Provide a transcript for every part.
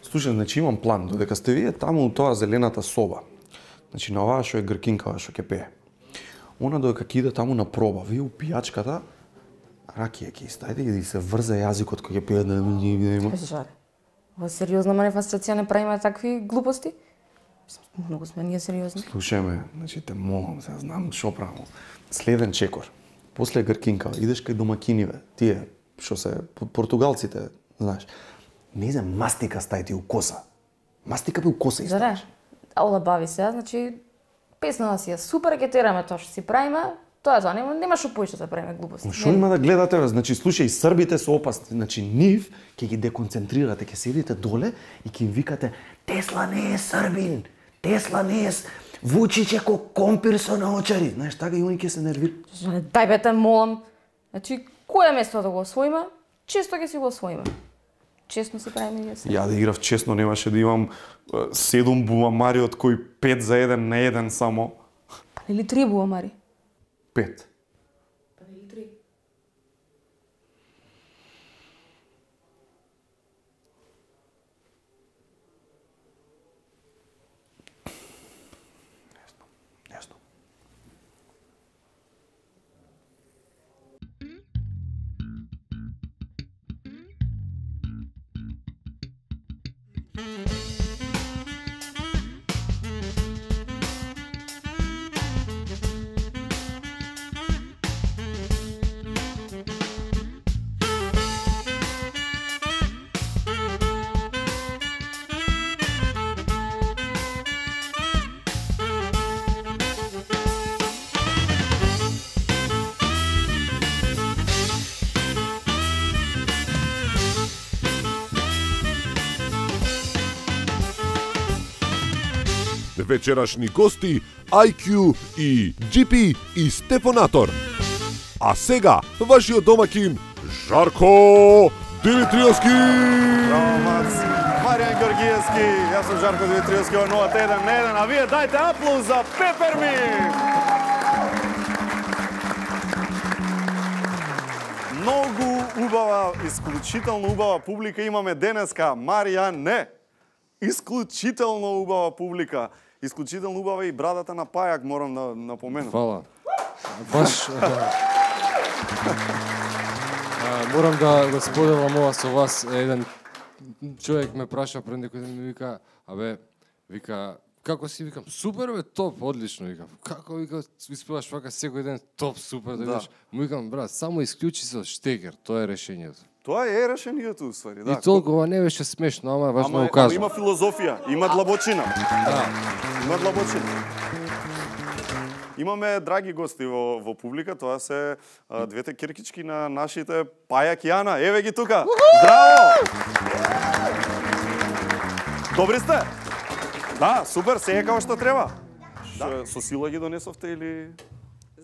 Слушай, значи имам план, додека сте вие таму у тоа зелената соба. Значи на оваа што е гркинкава што ќе пее. Она додека ќе иде таму на проба, вие у пијачката ракија ќе ставите и се врзе јазикот кој ќе пее да има. Жаре. Ова сериозна манифестација не правиме такви глупости? Многу сме ние сериозни. Слушај ме, значи те молам, се знам што правам. Следен чекор. После гркинка идеш кај домакиниве. Тие што се португалците, знаеш. Не знам, мастика стај ти у коса. Мастика би у коса и Жаре. Аула бави се, значи песната си е супер, ќе тераме тоа што си правиме. Тоа е тоа, нема што поише да правиме глупости. Што има да гледате, бе? Значи, слушај, србите се опасни. Значи, нив ќе ги деконцентрирате, ќе седите доле и ќе им викате Тесла не е србин, Тесла не е Вучич е ко компир со наочари. Знаеш, така и они ќе се нервираат. Дај бе те молам. Значи, кое место да го освоиме, често ќе си го освоиме. Честно си правиме ние се. Ја да играв честно, немаше да имам 7 бумамари, од кои 5 за 1 на 1 само. Или 3 бумамари? 5. Па или 3. Јасно. Вечерашни гости IQ и GP и Стефонатор. А сега вашиот домакин Жарко Димитриевски. Браво, Мац. Маријан Георгиевски, јас сум Жарко Димитриевски од 0-1 на 1, а вие дајте аплауз за Пеперми. Многу убава, исклучително убава публика имаме денеска. Маријан, не. Исклучително убава публика. Исклучително убава и брадата на Пајак, морам да напоменам. Фала. Баш морам да го споделам ова со вас. Еден човек ме праша пред некој ден, ми вика, вика, како си, викам, супер бе, топ, одлично, викам. Како, вика, испеваш вака секој ден, топ, супер, да видиш. Му викам, брат, само исклучи со штекер, тоа е решението. Тоа е решението, уствари, да. И толкова не беше смешно, ама важно го кажам. Има филозофија, има длабочина. Да. Има длабочина. Имаме драги гости во публика, тоа се двете киркички на нашите Пајак и Ана. Еве ги тука. Здраво! Добри сте? Да, супер, се е како што треба. Да. Со сила ги донесовте или...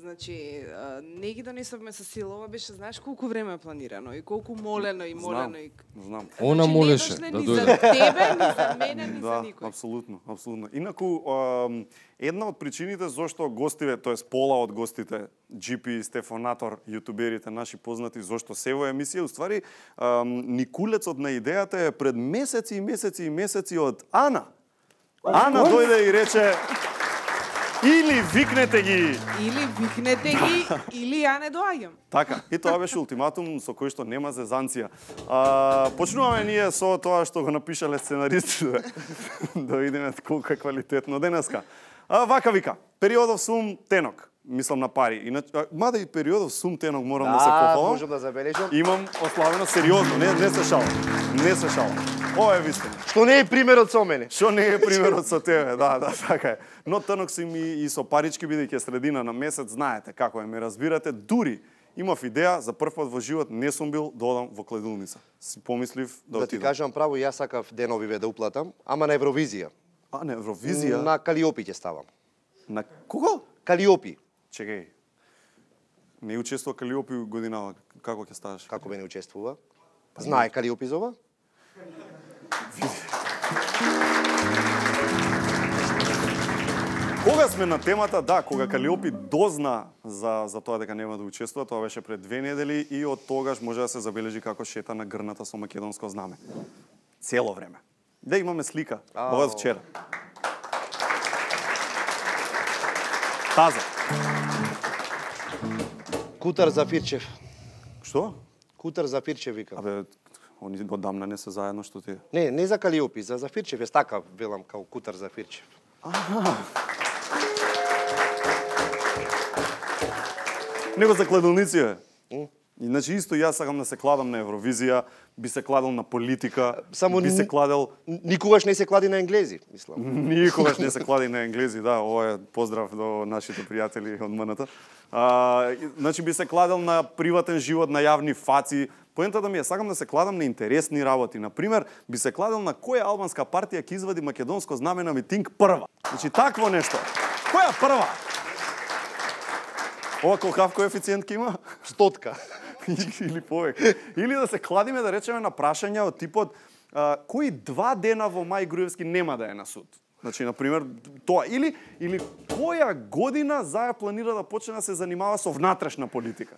Значи, не ги донесовме со сила, ова беше, знаеш колку време планирано и колку молено и молено и... Знам. Она молеше да ни дојде. за тебе, ни за мене, ни за Да, никој. апсолутно, апсолутно. Инаку, една од причините зошто гостиве, тоест пола од гостите, GP, Стефонатор, јутуберите наши познати, зошто се во емисија, уствари, никулецот на идејата е пред месеци и месеци и месеци од Ана. Ана дојде и рече, или викнете ги. Или викнете ги, или ја не доаѓам. Така, и тоа беше ултиматум со кој што нема зезанција. Почнуваме ние со тоа што го напишале сценаристите. Да видиме колку е квалитетно денеска. Вака вика, периодов сум тенок. Мислам на пари. Мада и периодов сум тенок морам да се пофалам. Можам да забележам. Имам ославено сериозно, не се шалам. Не се шалам. Ова е вистина. Што не е примерот со мене. Што не е примерот со тебе, да, така е. Но тенок сум и со парички, бидејќи е средина на месец, знаете како е, ме разбирате. Дури имав идеја, за прв пат во живот не сум бил да одам во кледилница. Си помислив да Да ти отидам. кажам право, јас сакав деновиве да уплатам, ама на Евровизија. А, на Евровизија? На Калиопи ќе ставам. На кого? Калиопи. Чекај. Не учествува Калиопи годинава. Како ќе ставаш? Како бе не учествува? Знае Калиопи за ова? Кога сме на темата, да, кога Калиопи дозна за тоа дека нема да учествува, тоа беше пред 2 недели и од тогаш може да се забележи како шета на грната со македонско знаме. Цело време. Да, имаме слика. Ова од вчера. Таза. Кутар Зафирчев. Што? Кутар Зафирчев вика. Абе, они одамна не се заедно што ти е. Не за Калиопи, за Зафирчев е така, велам као Кутар Зафирчев. Него за кладилници е. Значи исто јас сакам да се кладам на Евровизија, би се кладел на политика, Само би се кладел никогаш не се клади на енглези, мислам. никогаш не се клади на енглези, да, ова е поздрав до нашите пријатели од МНТ. Значи би се кладел на приватен живот, на јавни фаци. Поентата ми е сакам да се кладам на интересни работи. Например, би се кладел на која албанска партија ќе извади македонско знаме на митинг прва. Значи такво нешто. Која прва? Ова колкав коефициент ќе има? Стотка. Или повеќе. Или да се кладиме да речеме на прашања од типот кои 2 дена во Мај Груевски нема да е на суд. Значи, например, тоа. Или која година Заев планира да почне да се занимава со внатрешна политика?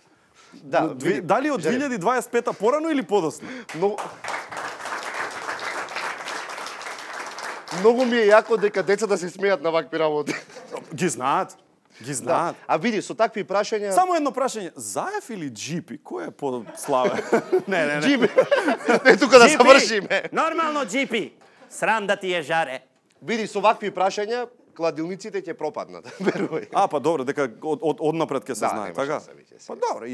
Да, Дали од 2025 порано или подоцна? Многу ми е јако дека децата се смеат на вакви работи. Ги знаат. Ги знаат. А види, со такви прашања... Само едно прашање. Заев или Джипи? Кој е по-славен? Не. Джипи. Не, тука да завршиме. Нормално, Джипи. Срам да ти е жаре. Види, со вакви прашања, кладилниците ќе пропаднат. Верувај. Па добро, дека однапред ќе се знае, нема така? што се виќе, Па добро,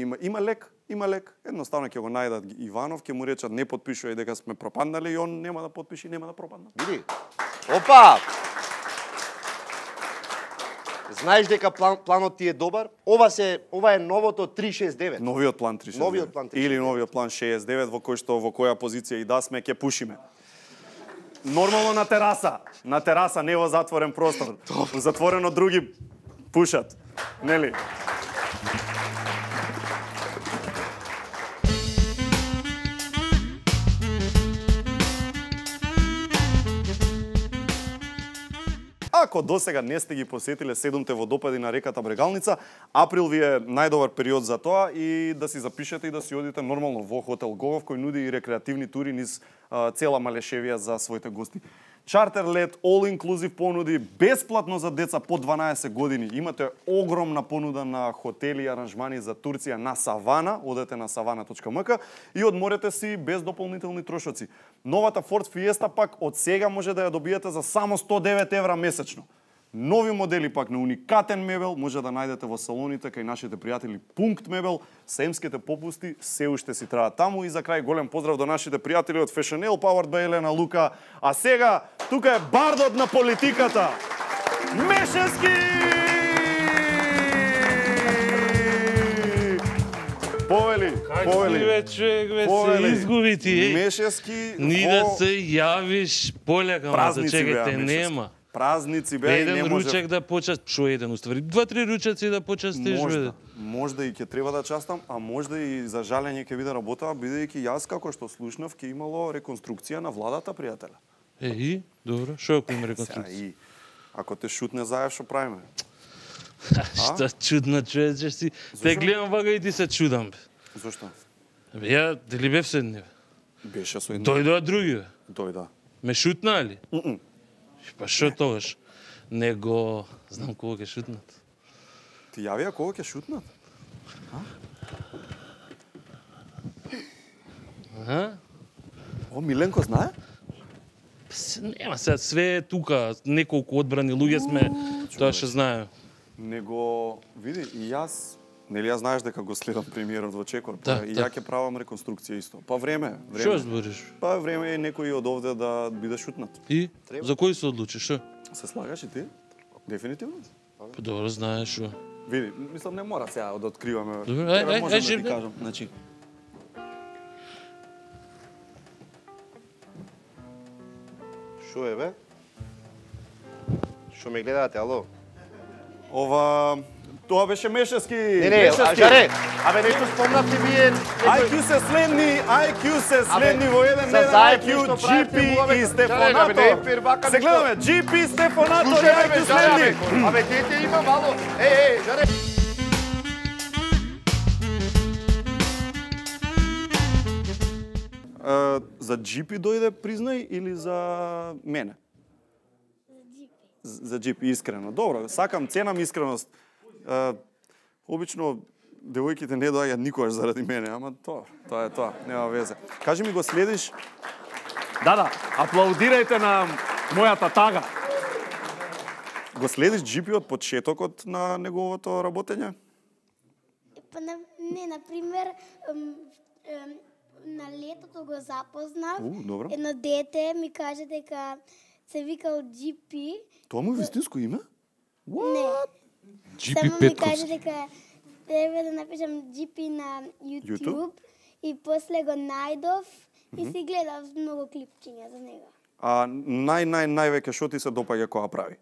има лек. Едноставно ќе го најдат Иванов, ќе му речат не потпишувај дека сме пропаднали и он нема да потпиши, нема да пропадне. Види. Опа! Знаеш дека планот ти е добар? Ова е новото 369. Новиот план 369. Новиот план 369. Или новиот план 69 во која позиција и да сме ќе пушиме. Нормално на тераса, не во затворен простор. Во затворено други пушат. Нели? Ако досега не сте ги посетиле 7-те водопади на реката Брегалница, април ви е најдобар период за тоа и да си запишете и да си одите нормално во хотел Гогов кој нуди и рекреативни тури низ цела Малешевија за своите гости. Чартер лет, all inclusive понуди, бесплатно за деца под 12 години. Имате огромна понуда на хотели и аранжмани за Турција на Савана, одете на savana.mk и одморете си без дополнителни трошоци. Новата Ford Fiesta пак од сега може да ја добиете за само 109 евра месечно. Нови модели пак на уникатен мебел може да најдете во салоните кај нашите пријатели Пункт мебел. Семските попусти се уште си траат таму. И за крај голем поздрав до нашите пријатели од Fashionelle, powered by Елена Лука. А сега, тука е бардот на политиката. Мешевски! Повели. Бе, човек, бе, се изгуби ти, Мешевски Ни да се јавиш полека, ма да чекате, нема. Празници беа и не Еден може... ручек да почаст, шо еден уствари? 2-3 ручеци да почастиш, бе. Можда и ќе треба да частам, а можда и за жалење ќе биде работа, бидејќи јас како што слушнав ќе имало реконструкција на владата, пријателе. И, добро, шо ако има реконструкција? И ако те шутне Заев, шо правиме? Шта чудна човече си. Те гледам вага и ти се чудам, бе. Зошто? Бе, ја, дали бев со едни, бе? Беше со едни. Дојдоа други, бе. Дојда. Ме шутна ли? Па шо тогаш? Него, знам кога ќе шутнат. Ти јавија кога ќе шутнат? О, Миленко знае? Нема сега, све е тука, неколку одбрани луѓе сме, тоа ќе знае. Него, види, и јас, нели јас знаеш дека го следам премиерот во Чекор, Да, и да. ја ќе правам реконструкција исто. Па време. Шо збориш? Па време е некој од овде да биде шутнат. И? За кој се одлучиш, шо? Се слагаш и ти? Дефинитивно? Па добро, знаеш шо. Види, мислам не мора сега да откриваме. Добро, Треба, можам да ти живе. кажам. Значи, Шо е, бе? Шо ме гледате, ало? ова тоа беше Мешевски. Не, а жаре, абе нешто спомнавте вие... IQ се следни во еден за ден Заев IQ, нешто правите, GP муаве, и абе, Стефонато. не е фирбака Се нешто. гледаме, GP, Стефонато и Слушај, IQ бе, жаре, следни. абе, дете има мало. Жаре. За GP дојде признај или за мене? За GP, искрено. Добро, сакам, ценам искреност. Обично девојките не доаѓаат никогаш заради мене, ама тоа е тоа, нема везе. Кажи ми, го следиш? Да, аплаудирајте на мојата тага. Го следиш GP од почетокот на неговото работење? Па не, например, на летото го запознав. Добро. Едно дете ми каже дека се викал GP. Тоа му е вистинско име? Не. GP Само ми Петковски. каже дека треба да напишам GP на YouTube и после го најдов и си гледав многу клипчиња за него. А највеќе што ти се допаѓа кога прави?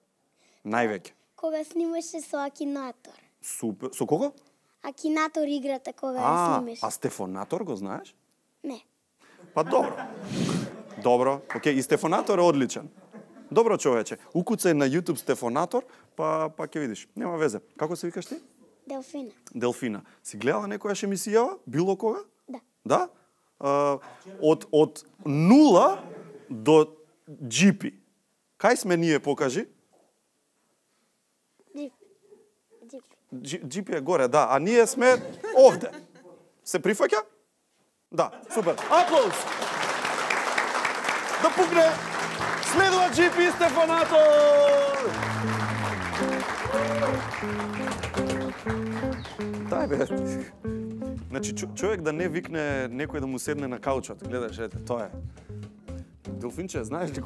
Највеќе. Кога снимаше со Акинатор. Супер. Со кого? Акинатор играта кога ја снимаше. А Стефонатор го знаеш? Не. Па добро. Добро, окей, и Стефонатор е одличен. Добро човече, укуцај на YouTube Стефонатор, па ќе видиш. Нема везе. Како се викаш ти? Делфина. Делфина. Си гледала некојаш емисија, било кога? Да. Да? Од 0 до GP. Кај сме ние, покажи? GP е горе, да, а ние сме овде. Се прифаќа? Да, супер. Аплауз! Да пукне! Следува GP Стефонатор! Дај бе. Значи, човек да не викне некој да му седне на каучот. Гледаш, ете, тоа е. Делфинче, знаеш ли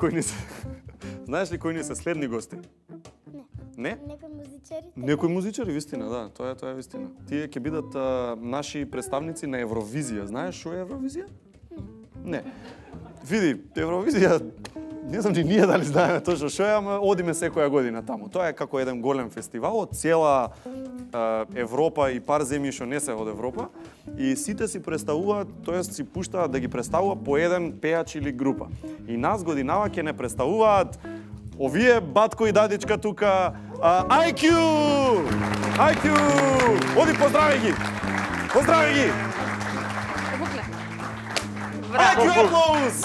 кои ни се следни гости? Не? Некои музичари? Некои музичари, вистина, да, тоа е вистина. Тие ќе бидат наши представници на Евровизија. Знаеш што е Евровизија? Не. Види, Евровизија, не знам ни ние дали знаеме точно што е, ама одиме секоја година таму. Тоа е како еден голем фестивал од цела Европа и пар земји што не се од Европа, и сите си представуваат, тоест си пуштаат да ги представува по еден пејач или група. И нас годинава ќе не представуваат овие батко и дадичка тука, IQ! IQ! Оди, поздрави ги! Поздрави ги! IQ аплауз!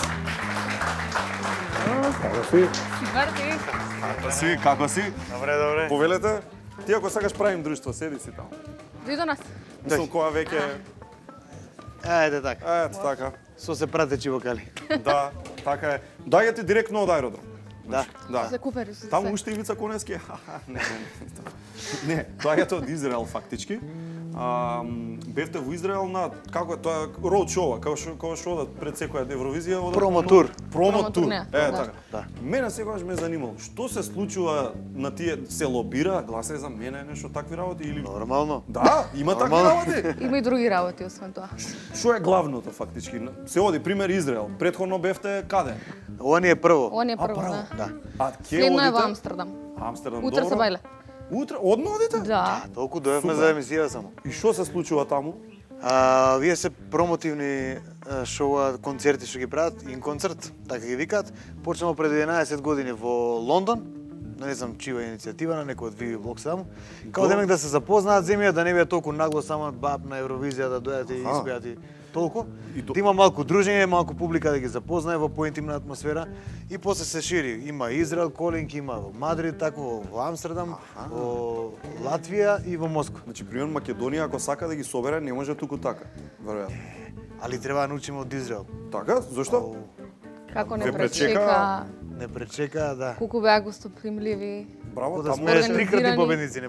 Како си? Добре. Повелете, ти ако сакаш правим друштво, седи си таму. Дојди до нас. Мислам која веќе... Ајде така. Ето така. Со се пратечи вокали. Да, така е. Дајате директно од аеродром. Да. За купери. Таму уште Ивица Коневски. Не. Не, доаѓате од Израел фактички. Бевте во Израел на како е тоа роуд шоу, како што одат пред секоја Евровизија, одат Промотур. Промотур. Да. Така. Мене секогаш ме занимало што се случува на тие, се лобира, гласај за мене, нешто такви работи или Нормално. Да, има такви работи. Има и други работи освен тоа. Што е главното фактички? Се оди пример Израел. Претходно бевте каде? Ова ни е прво. Ова ни е прво, право. да. А ќе Следно е одите? во Амстердам. Амстердам, Утре добро. се бајле. Утре одно одите? Да. Толку доевме Супер. за емисија само. И што се случува таму? Вие се промотивни шоуа, концерти што ги прават, инконцерт, така ги викаат. Почнемо пред 11 години во Лондон, не знам чија иницијатива на некој од Vivi Blog само. Као демек да се запознаат земја, да не биде толку нагло само баб на Евровизија да дојдат и испеат и толку. Да има малку дружење, малку публика да ги запознае во поинтимна атмосфера и после се шири. Има Израел колинг, има во Мадрид, тако во Амстердам, во Латвија и во Москва. Значи, пример Македонија ако сака да ги собере, не може туку така, веројатно. Али треба да научиме од Израел. Така? Зошто? Како не Ве пречека- пречека, Не пречека, да. колку беа гостопримливи. Браво, Да таму сме организирани. трикратни победници,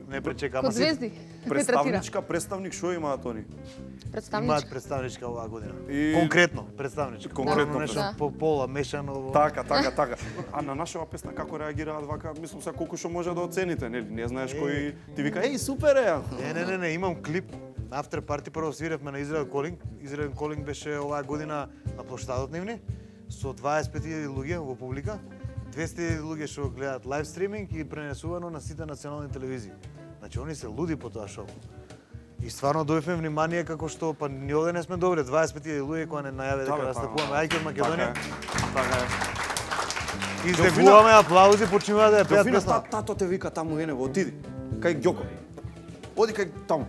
не пречека. Код звезди. ме третира. представник што имаат они? Имаат Представничка. представничка оваа година. И- Конкретно представничка. Конкретно Нешто Да. по пола мешано. Така. А на нашава песна како реагираат вака? Мислам се колку што може да оцените, нели? Не знаеш кој ти вика, еј, супер е! Не, имам клип. After party прво свиревме на Израел Колинг. Израел Колинг беше оваа година на плоштадот нивни со 25.000 луѓе во публика. 200.000 луѓе што гледаат лайв стриминг и пренесувано на сите национални телевизии. Значи они се луди по тоа шоу. И стварно дојдовме внимание како што па ни овде не сме добри, 25.000 луѓе кога не најаве дека настапуваме ајке од Македонија. Така е. Издевуваме аплаузи, почнува да ја пеат Делфина, песна. тато те вика таму енево, отиди. Кај Ѓоко. Оди кај таму.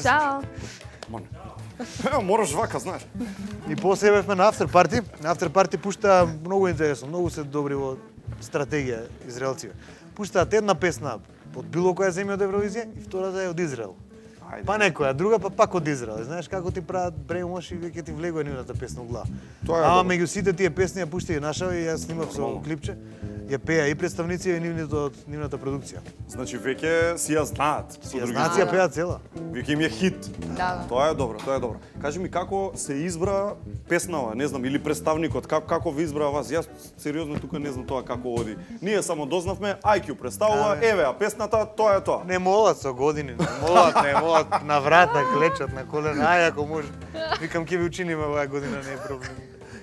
Чао. Мон. Мораш вака, знаеш. И после бевме на After Party. На After Party пушта многу интересно, многу се добри во стратегија израелците. Пуштаат една песна од било која земја од Евровизија и втората е од Израел. Па некоја друга, па пак од Израел. Знаеш како ти прават бремош и веќе ти влегува нивната песна во глава. Ама меѓу сите тие песни ја пушта и наша и јас снимав со клипче. Ја пеа и представници и нивната продукција. Значи веќе си ја знаат. Си ја знаат, си ја пеат цела. Веќе им е хит. Да. Тоа е добро, тоа е добро. Кажи ми како се избра песнава, не знам, или представникот, како ви избра вас? Јас сериозно тука не знам тоа како оди. Ние само дознавме, IQ представува, еве, а песната тоа е тоа. Не молат со години, не молат на врата, клечат на колена, ај ако може. Викам ќе ви учиниме оваа година, не е проблем.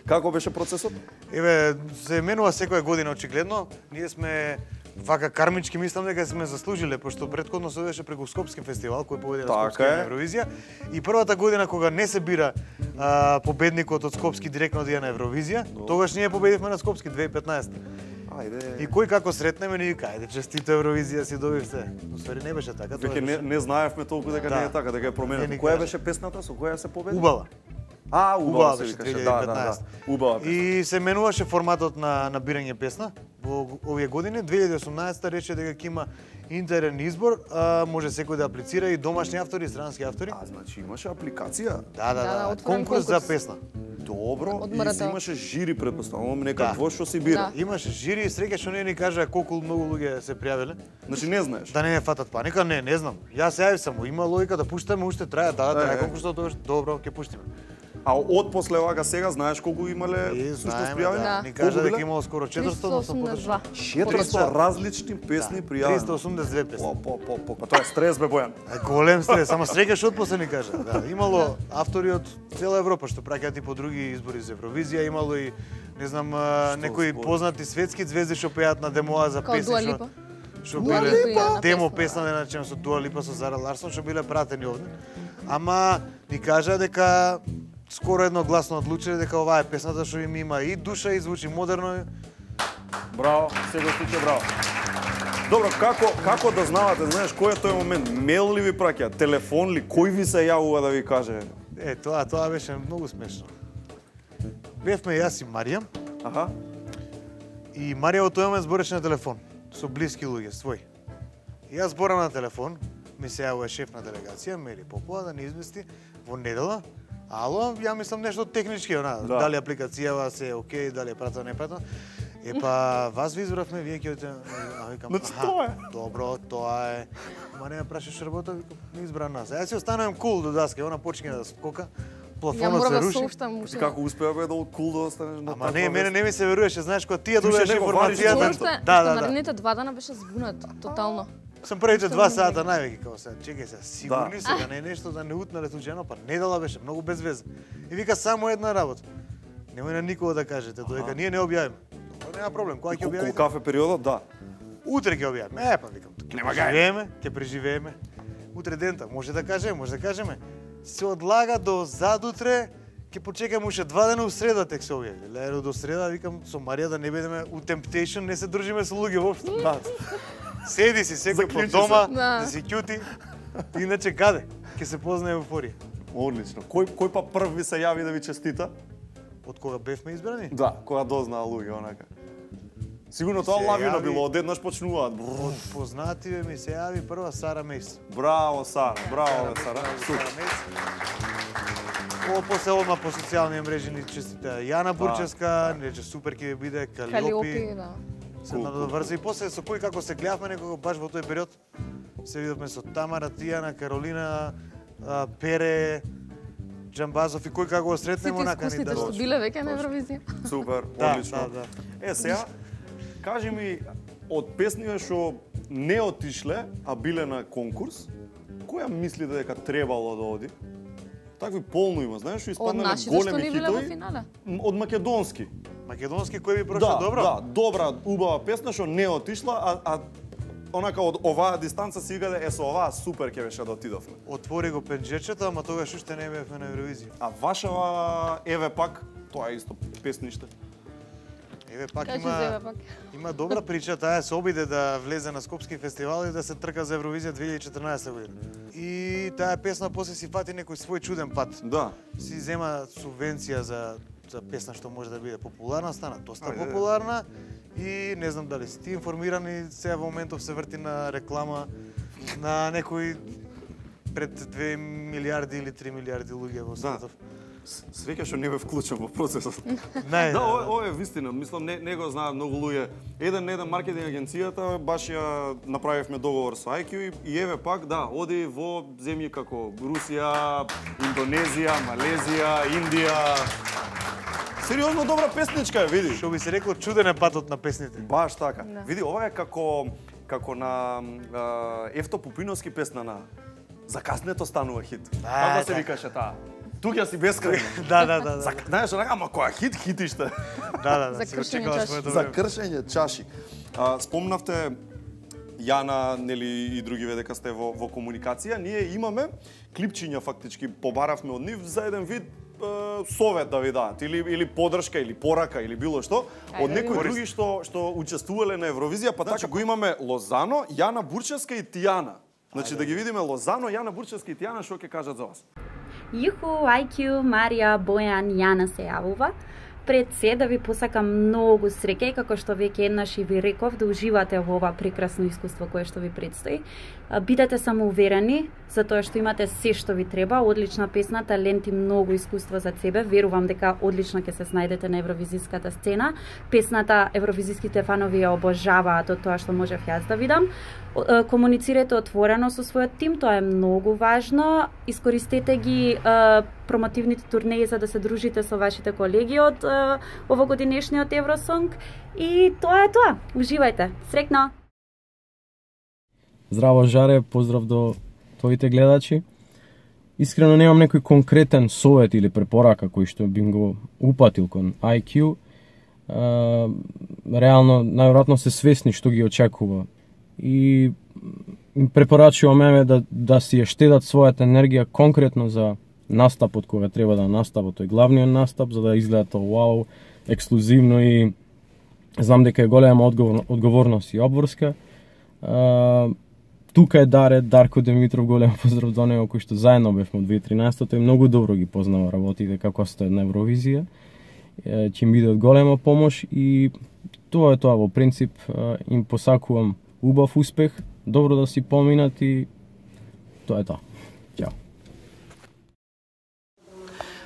Како беше процесот? Еве, се менува секоја година очигледно. Ние сме вака кармички, мислам дека сме заслужиле, пошто претходно се беше преку Скопски фестивал кој поведе на Скопски Евровизија. И првата година кога не се бира победникот од Скопски директно да на Евровизија, тогаш ние победивме на Скопски 2015. Ајде. И кој како сретнеме ни вика, ајде честито Евровизија си добивте. Уствари не беше така. Веќе не знаевме толку дека не е така, дека е променето. Која беше песната со која се победи? Убава. Убава се викаше, да. Убава песна. И се менуваше форматот на бирање песна во овие години. 2018 рече дека ќе има интерен избор, може секој да аплицира и домашни автори и странски автори. Значи имаше апликација? Да, конкурс за песна. Добро, и имаше жири, предпоставувам, некакво што си бира. Имаше жири и среќа што не ни кажа колку многу луѓе се пријавиле. Значи не знаеш? Да не фатат паника, не знам. Јас се јавив само, има логика да пуштаме, уште трае, трае конкурсот, добро, ќе пуштиме. А од после овага сега знаеш колку имале всушност пријавени? Ни кажа дека имало скоро 400, но сум подршал. 400 различни песни пријавени. 382 песни. Па тоа е стрес бе Бојан. Голем стрес, ама среќа што отпосле ни кажа. Да, имало автори од цела Европа што праќаат и по други избори за Евровизија, имало и не знам некои познати светски звезди што пеат на демоа за песни што биле демо песна да речем со Дуа Липа, со Зара Ларсон што биле пратени овде. Ама ни кажа дека скоро едногласно одлучиле дека оваа е песната што им има и душа и звучи модерно. Браво, сега стиče браво. Добро, како да знавате, знаеш, кој е тој момент? Мейл ли ви праќа, телефон ли, кој ви се јавува да ви каже? Тоа беше многу смешно. Бевме јас и Марија. Аха. И Марија во тој момент збореше на телефон со блиски луѓе, свој. И јас зборам на телефон, ми се јавува шеф на делегација, Мери Попова, да ни извести во недела. Ало, ја мислам нешто технички, дали апликацијава се окей, дали е пратено, не пратено. Епа, вас ви избравме, вие ќе одите, викам, добро, тоа е. Ма не ме прашаш работа, викам, не избра нас. Јас си останувам кул до даска, она почне да скока. Плафонот се руши. Како успеа бе да кул да останеш на Ама не, мене не ми се веруваше, знаеш, кога ти ја добиваш информацијата. Наредните 2 дена беше збунат, тотално. Сам првите 2 сата највеќе како се, чекај се, сигурни сега не е нешто да не утнале случајно, па недела беше многу безвезна. И вика само една работа. Немој на никого да кажете, додека ние не објавиме. Нема проблем, кога ќе објавите? Кафе периодот, да. Утре ќе објавиме. Па викам, ќе преживееме. Утре дента, може да кажеме. Се одлага до задутре, ќе почекаме уште 2 дена у среда тек се објави. Леро до среда викам со Марија да не бидеме у Temptation, не се дружиме со луѓе воопшто. Седи си секој по дома, да си ќути. Иначе каде? Ќе се познае еуфорија. Одлично. Кој па прв ви се јави да ви честита? Од кога бевме избрани? Да, кога дознаа луѓе онака. Сигурно тоа лавина било, одеднаш почнуваат. Од познативе ми се јави прва Сара Мейс. Браво Сара, браво Сара. После одма по социјални мрежи ни честита Јана Бурчевска, рече супер ќе биде Калиопи. Се надоврза и после со кој како се гледавме некога баш во тој период. Се видовме со Тамара, Тијана, Каролина, Пере, Джамбазов и кој како го сретнеме онака ни да што биле веќе на Евровизија. Супер, одлично. Сега кажи ми од песниве што не отишле, а биле на конкурс, која мислите дека требало да оди? Такви полно има, знаеш, што испаднале големи хитови. Од македонски. Македонски кој би прошол добро? Да, добра, убава песна што не отишла, а онака од оваа дистанца си викаде, со оваа супер ќе беше да отидовме. Отвори го пенџечето, ама тогаш уште не бевме на Евровизија. А вашава еве пак, тоа е исто песниште. Еве пак Кажи има Еве пак. има добра прича, таа се обиде да влезе на Скопски фестивал и да се трка за Евровизија 2014 година. И таа песна после си фати некој свој чуден пат. Да. Си зема субвенција за песна што може да биде популарна, стана доста популарна и не знам дали си ти информиран и сега во моментов се врти на реклама на некој пред 2 милиарди или 3 милиарди луѓе во светов. Среќа што не бе вклучен во процесот. Не, да, ова е вистина. Мислам, не го знаат многу луѓе. Еден маркетинг агенцијата, баш ја направивме договор со IQ и еве пак, да, оди во земји како Русија, Индонезија, Малезија, Индија. Сериозно добра песничка е, види. Што би се рекло, чуден е патот на песните. Баш така. Да. Види, ова е како на Евто Пупиновски песна на Закаснето станува хит. Како се викаше таа? Туѓа си бескрајно. Да. Знаеш, ама која хитиште. Да. За кршење чаши. За кршење чаши. Спомнавте Јана, нели и други дека сте во комуникација. Ние имаме клипчиња фактички, побаравме од нив за еден вид совет да ви дадат или подршка или порака или било што од некои други што учествувале на Евровизија, па така го имаме Лозано, Јана Бурчевска и Тијана. Значи да ги видиме Лозано, Јана Бурчевска и Тијана што ќе кажат за вас. Јуху, IQ, Марија, Бојан, Јана се јавува. Пред се да ви посакам многу среќа и како што веќе еднаш и ви реков, да уживате во ова прекрасно искуство кое што ви предстои. Бидете самоуверени, затоа што имате се што ви треба, одлична песна, талент и многу искуство за себе. Верувам дека одлично ќе се снајдете на евровизиската сцена. Песната евровизиските фанови ја обожаваат од тоа што можев јас да видам. Комуницирате отворено со својот тим, тоа е многу важно. Искористете ги промотивните турнеи за да се дружите со вашите колеги од овогодинешниот Евросонг и тоа е тоа. Уживајте. Среќно. Здраво Жаре, поздрав до твоите гледачи. Искрено немам некој конкретен совет или препорака кој што бим го упатил кон IQ. Реално, најверојатно се свесни што ги очекува. И им препорачувам да си ја штедат својата енергија конкретно за настапот кога треба да настапот, тој главниот настап, за да изгледа тоа вау, ексклузивно и знам дека е голема одговорност и обврска. Тука е Дарко Димитров, голем поздрав до него, кој што заедно бевме од 2013, тој многу добро ги познава работите како стои на Евровизија. Ќе им биде од голема помош и тоа е тоа во принцип. Им посакувам убав успех, добро да си поминат и тоа е тоа. Ćao.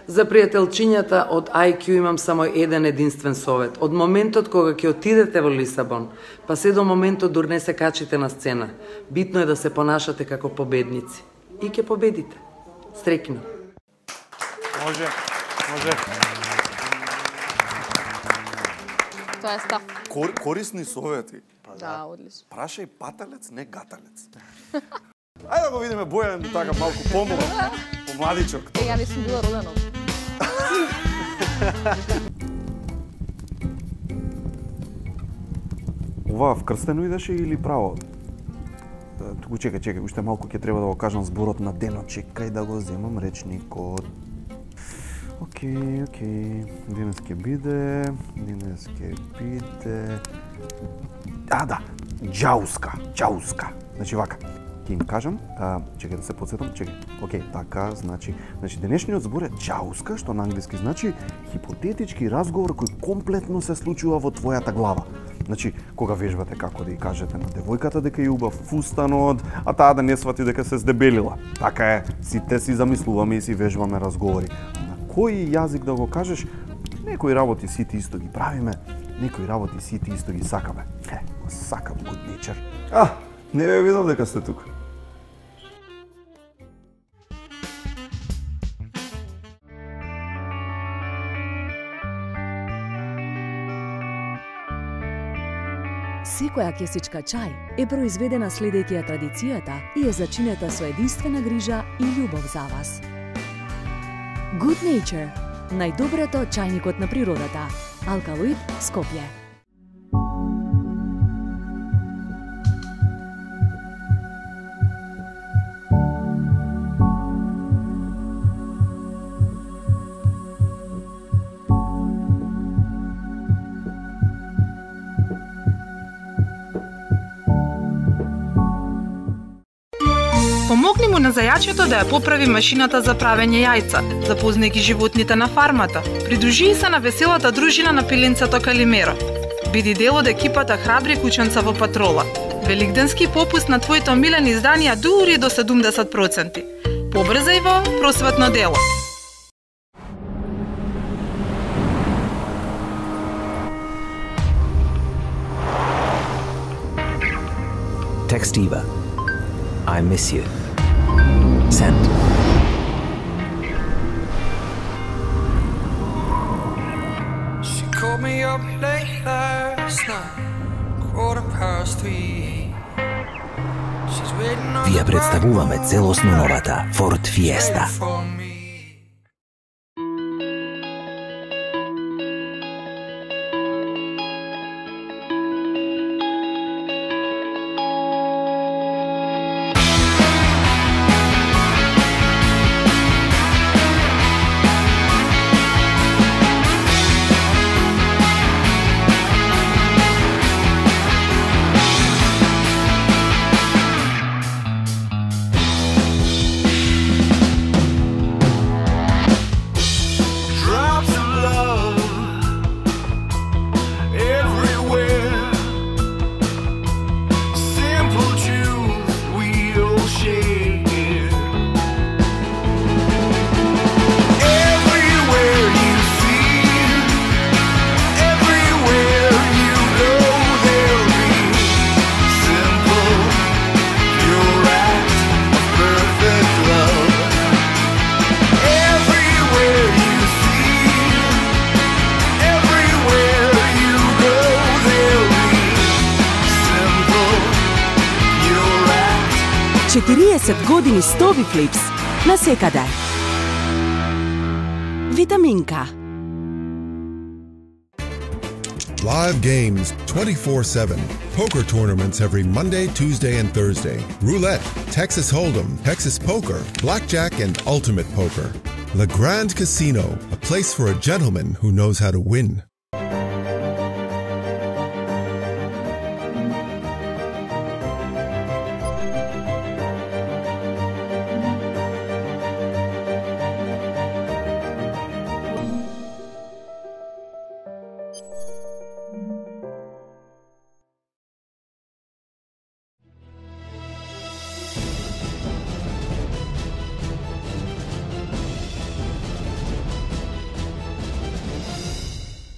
За пријателчињата од IQ имам само еден единствен совет. Од моментот кога ќе отидете во Лисабон, па се до моментот дур не се качите на сцена, битно е да се понашате како победници. И ќе победите. Среќно. Може. Тоа е став. Корисни совети. Да, одлично. Прашај паталец, не гаталец. Ајде да го видиме Бојан така малку помладичок. Ја не сум била родена. Ова вкрстено идеше или право? Туку чекај, уште малку ќе треба да го кажам зборот на денот, чекај да го земам речникот. Океј. Денес ќе биде... Да, џауска. Значи вака, ќе им кажам, чекај да се подсетам, океј, така, значи денешниот збор е џауска, што на англиски значи хипотетички разговор кој комплетно се случува во твојата глава. Значи, кога вежбате како да ја кажете на девојката дека е убав фустанот, а таа да не свати дека се здебелила. Така е, сите си замислуваме и си вежбаме разговори. На кој јазик да го кажеш, некои работи сите исто ги правиме, некои работи сите исто ги сакаме. Го сакам good nature. Не бе видел дека сте тука. Секоја кесичка чај е произведена следејќи ја традицијата и е зачинета со единствена грижа и љубов за вас. Good Nature, најдоброто чајникот на природата. Алкалоид, Скопје. Помогни му на зајачето да ја поправи машината за правење јајца, запознај ги животните на фармата. Придружи се на веселата дружина на пиленцето Калимеро. Биди дел од екипата храбри кученца во патрола. Великденски попуст на твоите омилени изданија дури до 70%. Побрзај во просветно дело. Text Eva. I miss you. Send. She called me up late last night, 3:15. Ви ја представуваме целосно новата Ford Fiesta. Години Стови Флипс на секаде. Витаминка. Live games 24/7. Poker tournaments every Monday, Tuesday, and Thursday. Roulette, Texas Hold'em, Texas Poker, Blackjack, and Ultimate Poker. Le Grand Casino, a place for a gentleman who knows how to win.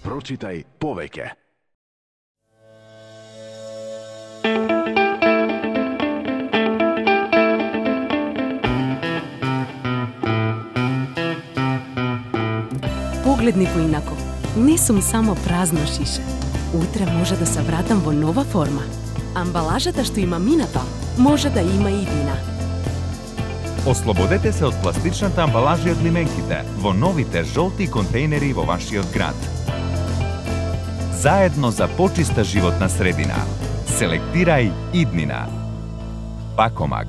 Прочитај повеќе. Погледни поинаку. Не сум само празно шише. Утре може да се вратам во нова форма. Амбалажата што има минато, може да има и иднина. Ослободете се од пластичната амбалажа од лименките во новите жолти контейнери во вашиот град. Заедно за почиста животна средина. Селектирај иднина. Пакомак.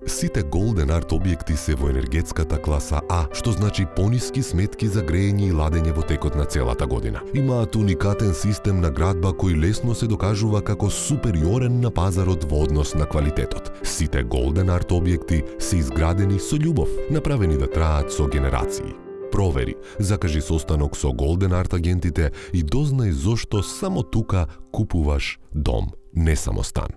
Сите Golden Art објекти се во енергетската класа А, што значи пониски сметки за грејење и ладење во текот на целата година. Имаат уникатен систем на градба кој лесно се докажува како супериорен на пазарот во однос на квалитетот. Сите Golden Art објекти се изградени со љубов, направени да траат со генерации. Провери, закажи состанок со Golden Art агентите и дознај зошто само тука купуваш дом, не само стан.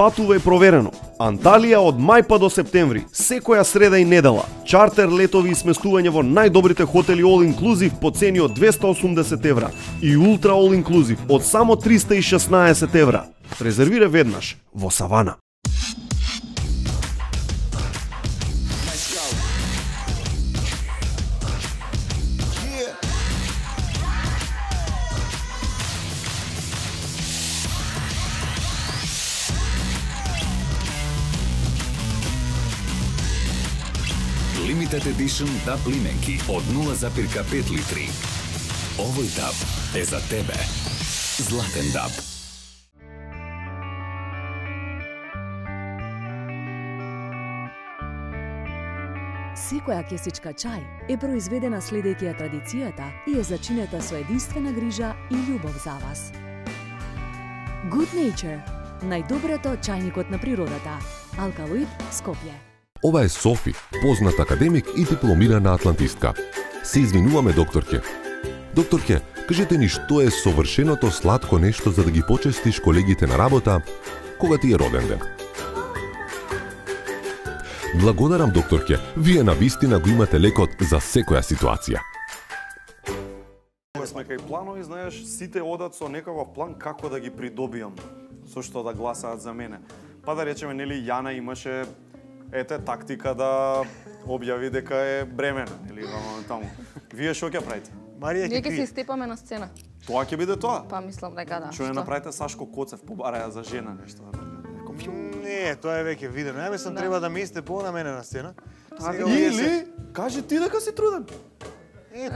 Патувај проверено. Анталија од мај па до септември, секоја среда и недела. Чартер летови и сместување во најдобрите хотели All Inclusive по цени од 280 евра и Ultra All Inclusive од само 316 евра. Резервира веднаш во Савана. Limited Edition DAB лименки од 0,5 литри. Овој DAB е за тебе. Златен DAB. секоја кесичка чај е произведена следејќи ја традицијата и е зачинета со единствена грижа и љубов за вас. Good Nature, најдоброто чајникот на природата. Алкалоид, Скопје. Ова е Софи, познат академик и дипломирана атлантистка. Се извинуваме, докторке. Докторке, кажете ни што е совршеното сладко нешто за да ги почестиш колегите на работа кога ти е роден ден. Благодарам, докторке. Вие навистина го имате лекот за секоја ситуација. Кога сме кај планови, знаеш, сите одат со некаков план како да ги придобијам, со што да гласаат за мене. Па да речеме, нели, Јана имаше тактика да објави дека е бремена, нели, таму. Вие што ќе правите? Марија Ние ќе се степаме на сцена. Тоа ќе биде тоа? Па мислам дека да. Што не направите Сашко Коцев, побараја за жена нешто. Не, тоа е веќе видено. Ја мислам треба да ми сте по на мене на сцена. Или кажи ти дека си труден.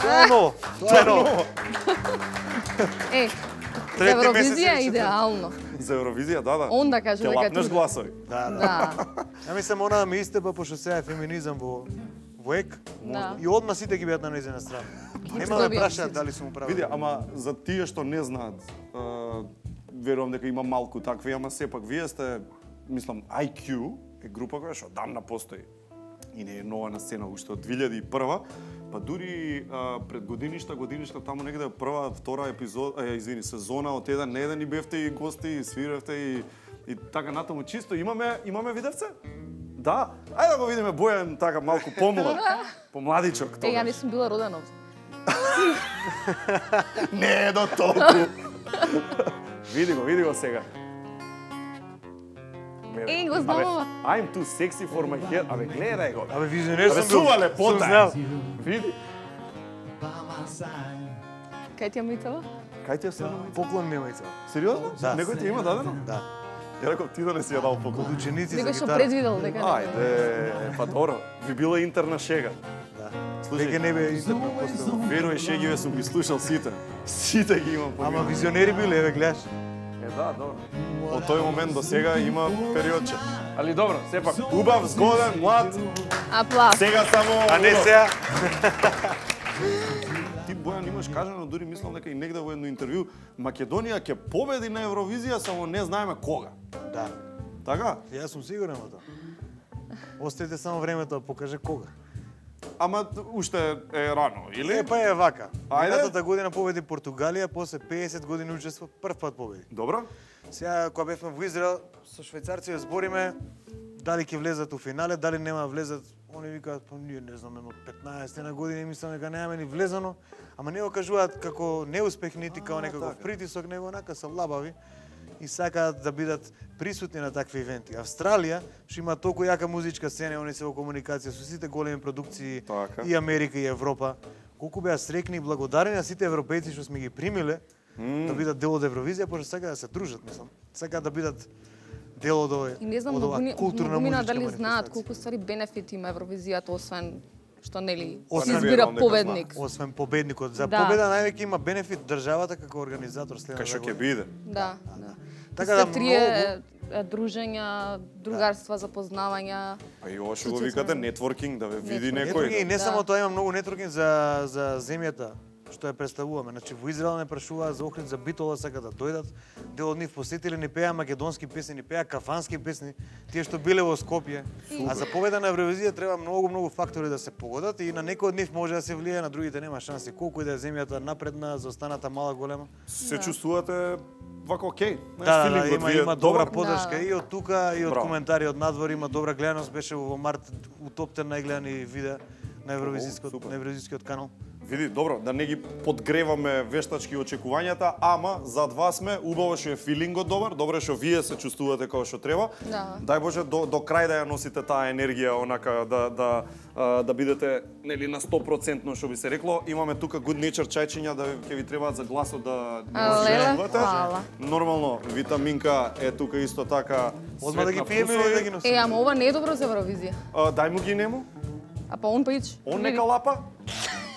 Тоа е ново. Тоа е ново. За Евровизија е идеално. За Евровизија, да. Он да каже дека е труден. Гласови. Да. Ја мислам она да ми истепа пошто сега е феминизам во ЕК. И одма сите ги бидат на нејзина страна. Нема да прашаат дали сум прав. Види, ама за тие што не знаат, верувам дека има малку такви, ама сепак вие сте, мислам, IQ е група која што дамна постои и не е нова на сцена, уште од 2001, па дури пред годиништа таму негде прва, втора сезона од еден на еден и бевте и гости и свиревте и така натаму чисто. Имаме видевце? Да. Ајде да го видиме Бојан така малку помлад, помладичок. Ја не сум била родена овде. Не до толку. Види го сега. Го знам. I'm too sexy for my hair. Абе, гледај го. Абе, визионер сум бил. Сува лепота. Види. Кај ти ја мицава? Кај ти ја се? Поклон ми ја мицава. Сериозно? Да. Некој ти има дадено? Да. Ја реков ти да не си ја дал поклон. Од ученици за Некој што гитара. предвидел дека не. Ајде, па добро. Ви била интерна шега. Да. Слушај, Веќе не бе интерна постава. Верувај, шегиве сум ги слушал сите. Сите ги имам. Ама визионери биле, еве гледаш. Да, добро. Од тој момент до сега има периодче. Али добро, сепак убав, згоден, млад. Аплауз. Сега само А не сега. Ти, Бојан, имаш кажано, дури мислам дека и негде во едно интервју, Македонија ќе победи на Евровизија, само не знаеме кога. Да. Така? Јас сум сигурен во тоа. Оставите само времето да покаже кога. Ама уште е рано, или? Па е вака. Ајде. Минатата година победи Португалија, после 50 години учество, прв пат победи. Добро. Сега, кога бевме во Израел, со швајцарци збориме дали ќе влезат у финале, дали нема влезат. Они викаат, па ние не знаме, 15 на години мислам дека немаме ни влезано, ама не го кажуваат како неуспех, нити како некаков притисок, него онака се лабави и сакаат да бидат присутни на такви ивенти. Австралија, што има толку јака музичка сцена, они се во комуникација со сите големи продукции и Америка и Европа. Колку беа срекни и благодарени на сите европејци што сме ги примиле да бидат дел од Евровизија, пошто сакаат да се дружат, мислам. Сакаат да бидат дел од овој И не знам, културна мина музичка дали знаат манифестација. колку ствари бенефити има Евровизијата, освен што нели Освен се избира победник. Освен победникот. За Да. победа највеќе има бенефит државата како организатор следната Кај што ќе година. биде. Да. Така да трие дружења, другарства, запознавања. А и ова што го викате нетворкинг, да ве види Нетворкинг, некој. и не само тоа, има многу нетворкинг за земјата што ја представуваме. Значи во Израел не прашуваат за Охрид, за Битола, сака да дојдат. Дел од нив посетили, ни пеа македонски песни, ни пеа кафански песни, тие што биле во Скопје. А за победа на Евровизија треба многу фактори да се погодат и на некој од нив може да се влие, на другите нема шанси. Колку и да е земјата напредна, за останата мала голема. Се чувствувате вака окей. Да, има добра подршка и од тука и од Браво. коментари од надвор, има добра гледаност, беше во март у топ 10 најгледани видеа на Евровизискиот канал. Види, добро, да не ги подгреваме вештачки очекувањата, ама зад вас сме, убаво што е филингот добар, добро што вие се чувствувате како што треба. Да. Дај Боже до крај да ја носите таа енергија, онака да бидете нели на 100% што би се рекло. Имаме тука Good Nature чајчиња да ќе ви требаат за гласот да Хвала. Нормално, витаминка е тука исто така. Одма да ги пиеме или да ги носиме? Ама ова не е добро за Евровизија. Дај му ги нему. А па он пич. Он нека лапа.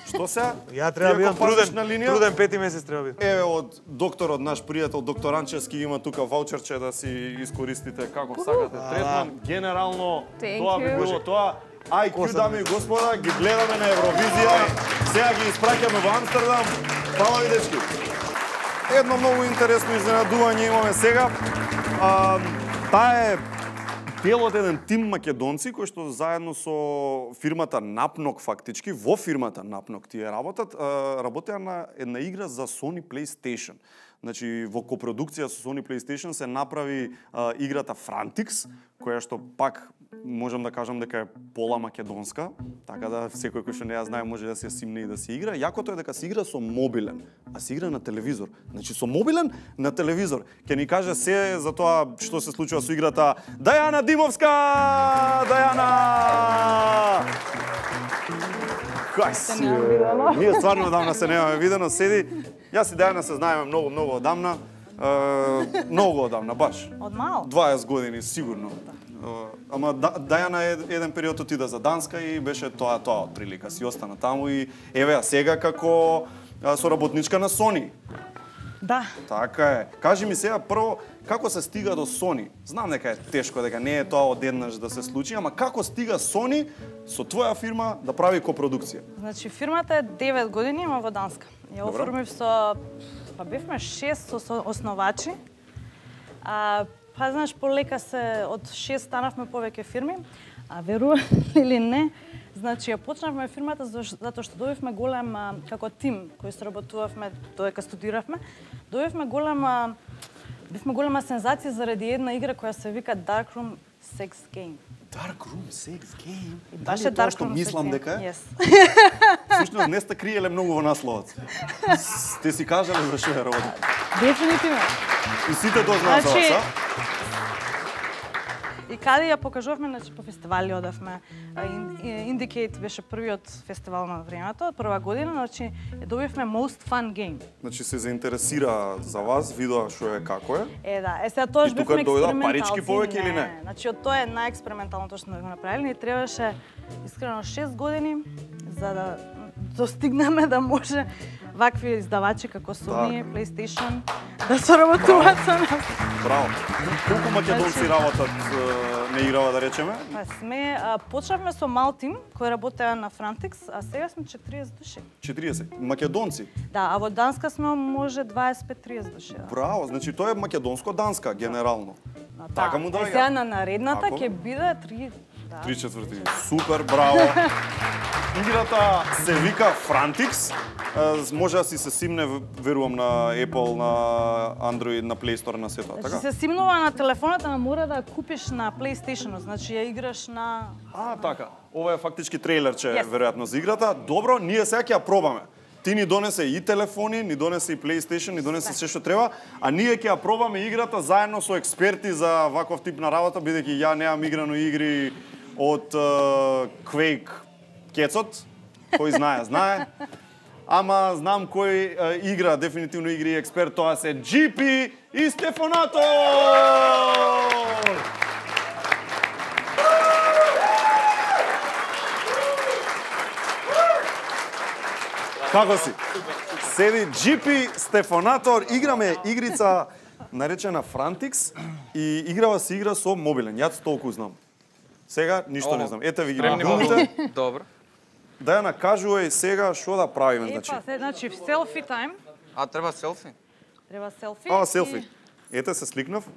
Што се? Ја треба да бидам труден 5 месец треба би. Еве од докторот, наш пријател доктор Анчевски има тука ваучерче да си искористите како сакате третман. Генерално Thank тоа би you. било тоа. IQ, дами и господа, ги гледаме на Евровизија. Сега ги испраќаме во Амстердам. Фала ви, дечки. Едно многу интересно изненадување имаме сега. Таа е дел од еден тим македонци кои што заедно со фирмата Napnog фактички, во фирмата Napnog тие работеа на една игра за Sony PlayStation. Значи, во копродукција со Sony PlayStation се направи играта Frantix, која што пак можам да кажам дека е пола македонска, така да секој кој што не ја знае може да се симне и да се игра. Јакото е дека се игра со мобилен, а се игра на телевизор. Значи со мобилен на телевизор. Ке ни каже се за тоа што се случува со играта Дајана Димовска! Дајана! Кај си? Ние стварно одамна се немаме видено, седи. Јас и Дајана се знаеме многу одамна. Многу одамна, баш. Од мал? 20 години, сигурно. Ама Дајана еден период отида за Данска и беше тоа од прилика. Си остана таму и еве а сега како соработничка на Sony. Да. Така е. Кажи ми сега прво како се стига до Sony? Знам дека е тешко, дека не е тоа одеднаш да се случи, ама како стига Sony со твоја фирма да прави копродукција? Значи фирмата е 9 години, има во Данска. Ја оформив со бевме 6 основачи. Знаеш, полека се од 6 станавме повеќе фирми, а верувам или не, значи ја почнавме фирмата затоа што добивме голем како тим кој сработувавме додека студиравме, добивме голема сензација заради една игра која се вика Dark Room Sex Game. Dark Room Sex Game? Беше Dark што Room мислам Sex дека Game. е? Всушност не сте криеле многу во насловот. Сте си кажале за што е работа. Дефинитивно. И сите тоа знаат за вас, а? И каде ја покажувавме, значи по фестивали одавме. Indicate беше првиот фестивал на времето, прва година, значи ја добивме Most Fun Game. Значи се заинтересира за вас, видоа што е како е. Да, сега тоа бевме експерименталци. И тука дојдоа парички повеќе или не? Значи од тоа е најексперименталното што сме го направили и требаше искрено 6 години за да достигнеме да може вакви издавачи како Sony, PlayStation да соработуваат со нас. Браво. Колку македонци работат на играва, да речеме? Почнавме со мал тим кој работеа на Frantix, а сега сме 40 души. 40 македонци? Да, а во Данска сме може 25-30 души. Браво, значи тоа е македонско-данска генерално. Така му доаѓа. Сега на наредната ќе биде 3/4. Супер, браво. Играта се вика Frantix. Може да си се симне, верувам, на Apple, на Android, на Play Store, на сето, така? Значи се симнува на телефоната, но мора да ја купиш на PlayStation, значи ја играш на... Така. Ова е фактички трейлерче, веројатно, за играта. Добро, ние сега ќе ја пробаме. Ти ни донесе и телефони, ни донесе и PlayStation, ни донесе се што треба, а ние ќе ја пробаме играта заедно со експерти за ваков тип на работа, бидејќи ја немам играно игри од Quake кецот, кој знае. Ама знам кој игра, дефинитивно игри експерт, тоа се GP и Стефонато! Како си? Седи GP Стефонатор, играме игрица наречена Frantix и играва се игра со мобилен. Јас толку знам. Сега ништо не знам. Ете ви ги мобилните. Добро. Дајана, кажувај сега што да правиме, значи. Значи, селфи тајм. Треба селфи? Треба селфи. Селфи. Ете се сликнав.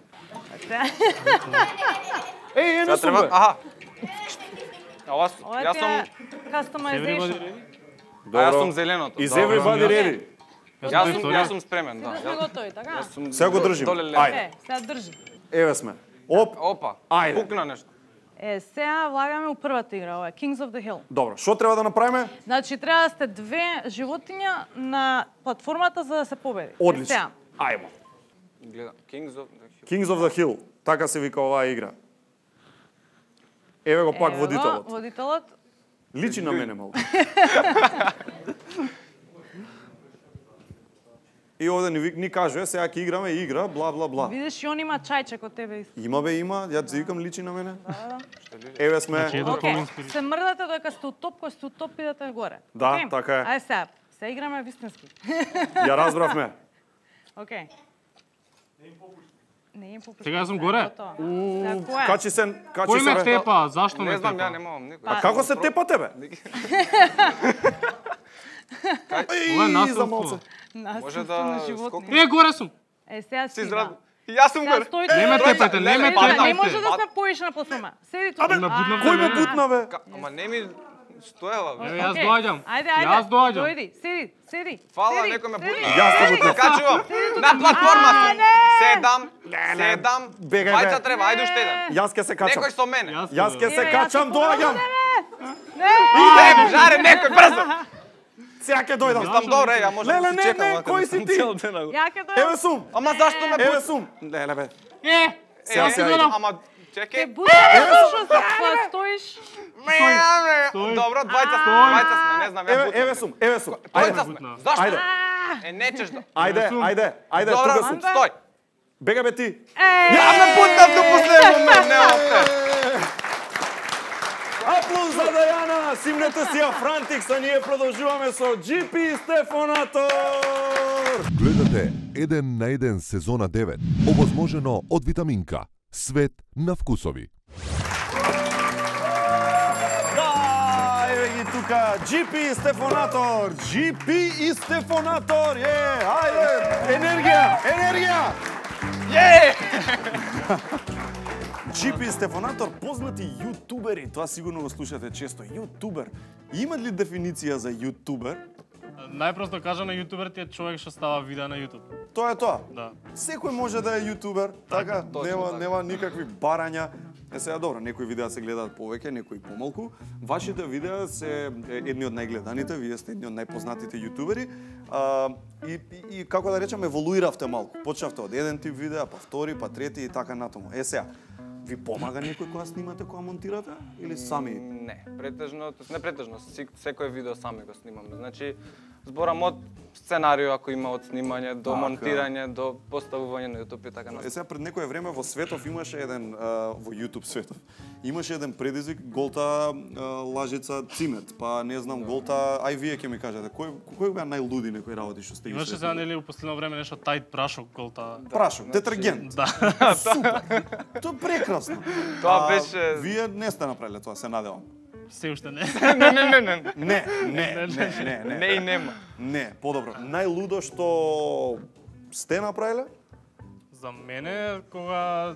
Едно супер. Аха. Јас сум customization. Јас сум зеленото. Is everybody ready? Јас сум спремен, да. Сме готови, така? Сега го држим. Ајде. Сега држи. Еве сме. Опа. Ајде. Пукна нешто. Сега влагаме у првата игра, ова е Kings of the Hill. Добро, што треба да направиме? Значи, треба да сте две животиња на платформата за да се победи. Одлично. Ајмо. Гледам, Kings of the Hill. Kings of the Hill, така се вика оваа игра. Еве го пак водителот. Водителот. Личи на мене малку. И овде ни кажува, сега ќе играме игра, бла, бла, бла. Видиш, и он има чајче кod тебе. Има, ја ти викам личи на мене. Еве сме. Се мрдате додека сте у топ, кој сте у топ, идете горе. Да, така е. Ајде сега, се играме вистински. Ја разбравме. Океј. Не им попушта. Сега јас сум горе. Качи се, Кој ме тепа? Зашто ме Не знам, тепа? ја немам никој. А како се тепа тебе? Ова е насилство. Може да Е, горе сум. Сега си здрав. Јас сум горе. Не ме тепајте, не ме тепајте. Не може да сме поиш на платформа. Седи тука. Кој ме бутна, бе? Ама не ми стоела, бе. Јас доаѓам. Ајде, Јас доаѓам. Дојди, седи. Фала, некој ме бутна. Јас те бутнав. Качувам. На платформата. Седам. Бајца треба, ајде уште еден. Јас ке се качам. Некој со мене. Јас ке се качам, доаѓам. Идем, жаре, некој брзо. Сега ќе дојдам. Стам добре, ја можам да се чекам. Не, кој си ти? Ја ќе дојдам. Еве сум. Ама зашто ме Еве сум. Леле бе. Сега си дојдам. Ама чекај. Зашто стоиш? Добро, двајца сме, не знам, ја бутнам. Еве сум. Двајца сме. Зашто? Ајде. Нечеш да. Ајде, Добро, тука сум. стој. Бега бе ти. Ја ме бутнав до последен момент, нема те. Аплауз за Дајана, симнете си ја Франтикс, а ние продолжуваме со GP Стефонатор. Гледате 1 на 1 сезона 9, овозможено од Витаминка. Свет на вкусови. Да, еве ги тука, GP Стефонатор, GP и Стефонатор, ајде, енергија! GP Стефонатор, познати јутубери, тоа сигурно го слушате често. Јутубер, има ли дефиниција за јутубер? Најпросто кажано, јутубер ти е човек што става видеа на YouTube. Тоа е тоа. Да. Секој може да е јутубер, така, нема никакви барања. Сега добро, некои видеа се гледаат повеќе, некои помалку. Вашите видеа се едни од најгледаните, вие сте едни од најпознатите јутубери. И како да речам, еволуиравте малку. Почнавте од еден тип видеа, па втори, па трети и така натаму. Сега, ви помага некој кога снимате, кога монтирате или сами? Не претежно, секој видео сами го снимаме. Значи, зборам од сценарио ако има од снимање до монтирање до поставување на YouTube и така натаму. Сега пред некое време во светов имаше еден во YouTube светов. Имаше еден предизвик голта лажица цимет, па не знам голта, ај вие ќе ми кажете кој беа најлуди некои работи што сте ги Имаше сега нели во последно време нешто тајт прашок голта. Прашок, детергент. Да. Супер. Тоа прекрасно. Тоа беше Вие не сте направиле тоа, се надевам. Се уште не. Не и нема. Не, подобро. Најлудо што сте направиле? За мене, кога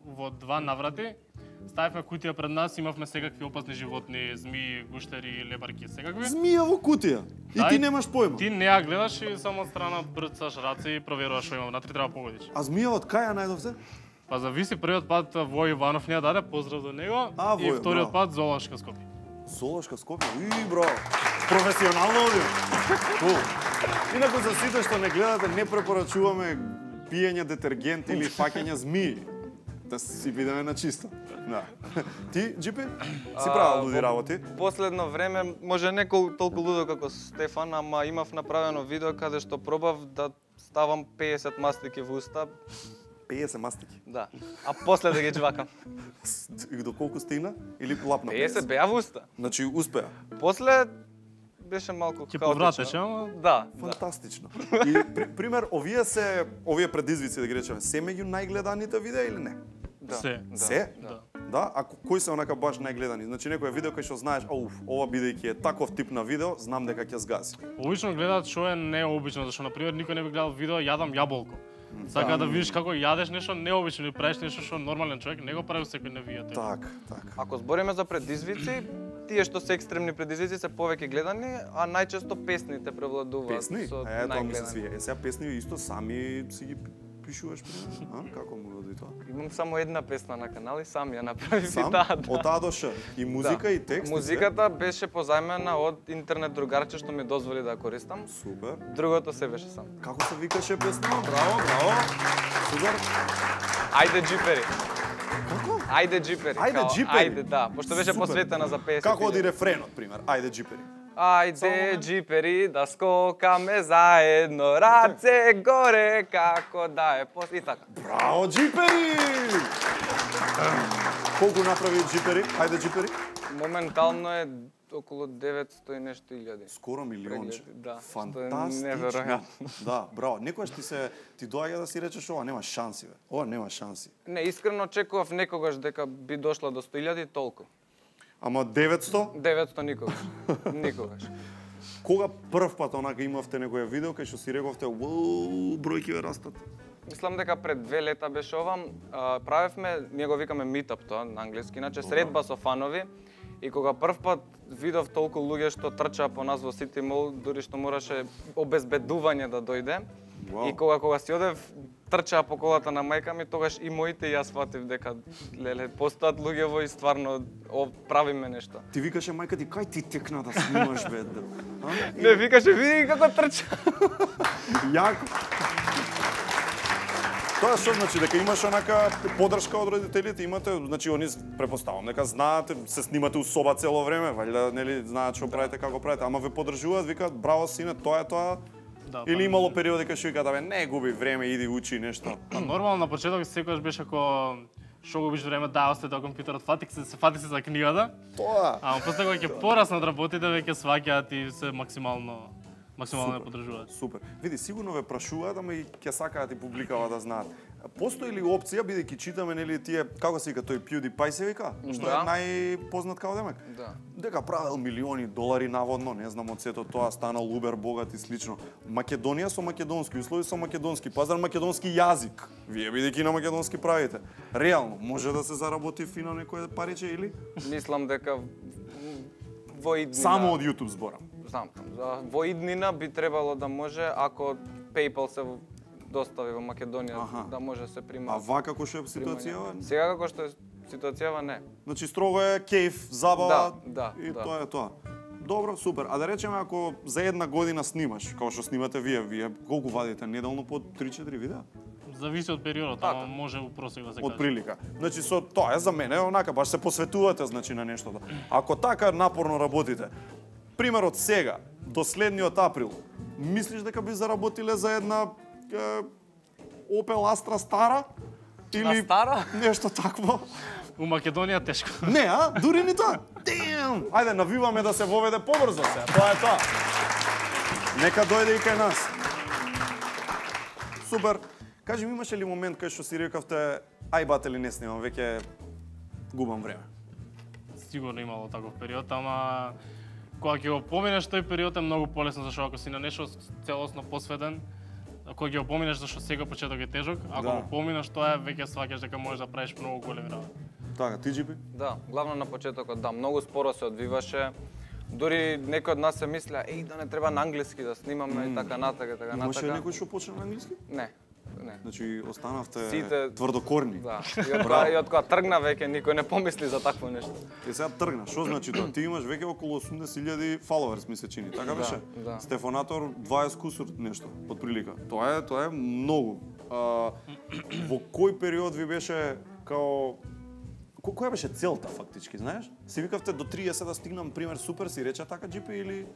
во 2 наврати ставивме кутија пред нас, имавме секакви опасни животни, змии, гуштери, лебарки, секакви. Змија во кутија? И ти немаш појма? Ти не ја гледаш и само од страна брцаш раце и проверуваш што има внатре, треба погодиш. А змија од кај ја најдовте? Па зависи, првиот пат Вој Иванов ни ја даде, поздрав до него, и вториот пат Зоолошка Скопје. Зоолошка Скопје, бро, професионално овие. Инаку за сите што не гледате, не препорачуваме пиење детергент или фаќање змии. Да си бидеме на чисто. Да. Ти, Джипи, си правил луди работи? Последно време, може не толку лудо како Стефан, ама имав направено видео каде што пробав да ставам 50 мастики во уста. 50 мастики? Да. А после да ги джвакам. До колку стигна? Или лапна 50 беа во уста. Значи успеа. После беше малку хаотично. Ќе повратеше, ама? Да. Фантастично. И пример, овие предизвици да ги речеме, се меѓу најгледаните видеа или не? Да. Се? Да. А кои се онака баш најгледани? Значи некој видео кој што знаеш, ова бидејќи е таков тип на видео, знам дека ќе згаси. Обично гледаат што е необично, зашто на пример никој не би гледал видео јадам јаболко. Сака да видиш како јадеш нешто необично или правиш нешто што нормален човек не го прави секој на видеото. Так. Ако збориме за предизвици, тие што се екстремни предизвици се повеќе гледани, а најчесто песните превладуваат. Песни? Со Тоа ми се свија. Сега песни исто сами си ги пишуваш пример? Како му оди тоа? Имам само една песна на канал и сам ја направив сам? и таа. Од А до Ш. И музика и текст? Музиката беше позајмена од интернет другарче што ми дозволи да ја користам. Супер. Другото се беше сам. Како се викаше песна? Браво. Супер. Ајде джипери. Како? Ајде джипери. Ајде джипери. Ајде, да, пошто беше посветена за 50. Како оди рефренот, пример? Ајде джипери. Ајде джипери да скокаме заедно, раце горе како да е и така. Браво джипери! Колку направи джипери? Ајде джипери? Моментално е околу 900 и нешто илјади. Скоро милионче. Да, фантастично. Неверојатно. Да, браво. Некогаш ти доаѓа да си речеш ова нема шанси, бе. Ова нема шанси. Не, искрено очекував некогаш дека би дошла до 100.000 толку. Ама 900? 900 никогаш. Никогаш. Кога прв пат онака имавте некоја видео кај што си рековте, "Уау, бројкиве растат"? Мислам дека пред 2 лета беше ова. Правевме, ние го викаме meetup тоа на англиски, иначе средба со фанови. И кога прв пат видов толку луѓе што трчаа по нас во City Mall, дури што мораше обезбедување да дојде. Wow. И кога си одев, трчаа по колата на мајка ми, тогаш и моите и јас фатив дека леле постојат луѓе во и стварно правиме нешто. Ти викаше мајка ти, кај ти текна да снимаш бе? Не, викаше, види како трча. Јако. Тоа што значи дека имаш онака поддршка од родителите, имате, значи они препоставам дека знаат, се снимате у соба цело време, валјда нели знаат што правите, како правите, ама ве поддржуваат, викаат браво сине, тоа е тоа. Да, или имало периоди кога што викаат абе не губи време, иди учи нешто. Па нормално на почеток секогаш беше како што губиш време, да остате од компјутерот, фати се за книгата. Тоа. Ама после кога ќе пораснат работите веќе сваќаат и се максимално ме поддржуваат. Супер. Види, сигурно ве прашуваат, ама и ќе сакаат и публикава да знаат. Постои ли опција, бидејќи читаме нели тие, како се вика тој PewDiePie се вика, што е најпознат као демек? Да. Дека правел милиони долари наводно, не знам од сето тоа, станал убер богат и слично. Македонија со македонски услови, со македонски пазар, македонски јазик. Вие бидејќи на македонски правите. Реално може да се заработи фино некое париче или? Мислам дека во иднина. Само од YouTube зборам. Знам, во иднина би требало да може, ако PayPal се достави во Македонија, да може да се прима. А вака како што е ситуацијава? Сега како што е ситуацијава, не. Значи строго е кејф, забава и да. тоа е тоа. Добро, супер. А да речеме ако за една година снимаш, како што снимате вие колку вадите неделно по 3-4 видеа? Зависи од периодот, ама може у просек да се каже. Од прилика. Значи со тоа е за мене онака баш се посветувате значи на нештото. Ако така напорно работите, пример од сега до следниот април, мислиш дека би заработиле за една Opel Astra стара? Или стара? Нешто такво? У Македонија тешко. Не, дури ни тоа. Damn! Ајде, навиваме да се воведе побрзо се. Тоа е тоа. Нека дојде и кај нас. Супер. Кажи ми, имаше ли момент кај што си рекавте, ај батели не снимам, веќе губам време? Сигурно имало таков период, ама кога ќе го поминеш тој период е многу полесно, зашто ако си на нешто целосно посветен, кога ќе го поминеш зашто сега почеток е тежок, ако го поминеш тоа веќе сваќаш дека можеш да правиш многу големи работи. Така, ти Джипи? Да, главно на почетокот, да, многу споро се одвиваше. Дури некои од нас се мислеа, да не треба на англиски да снимаме и така натака, така натака. Имаше некој што почна на англиски? Не. Значи останавте сите тврдокорни. Да. И од кога тргна веќе никој не помисли за такво нешто. И сега тргна. Што значи тоа? Ти имаш веќе околу 80.000 фоловерс, ми се чини, така беше? Да. Стефонатор 20 кусур нешто, од прилика. Тоа е многу. Во кој период ви беше као која беше целта фактички, знаеш? Си викавте до 30 да стигнам, пример, супер, си рече така Джипи или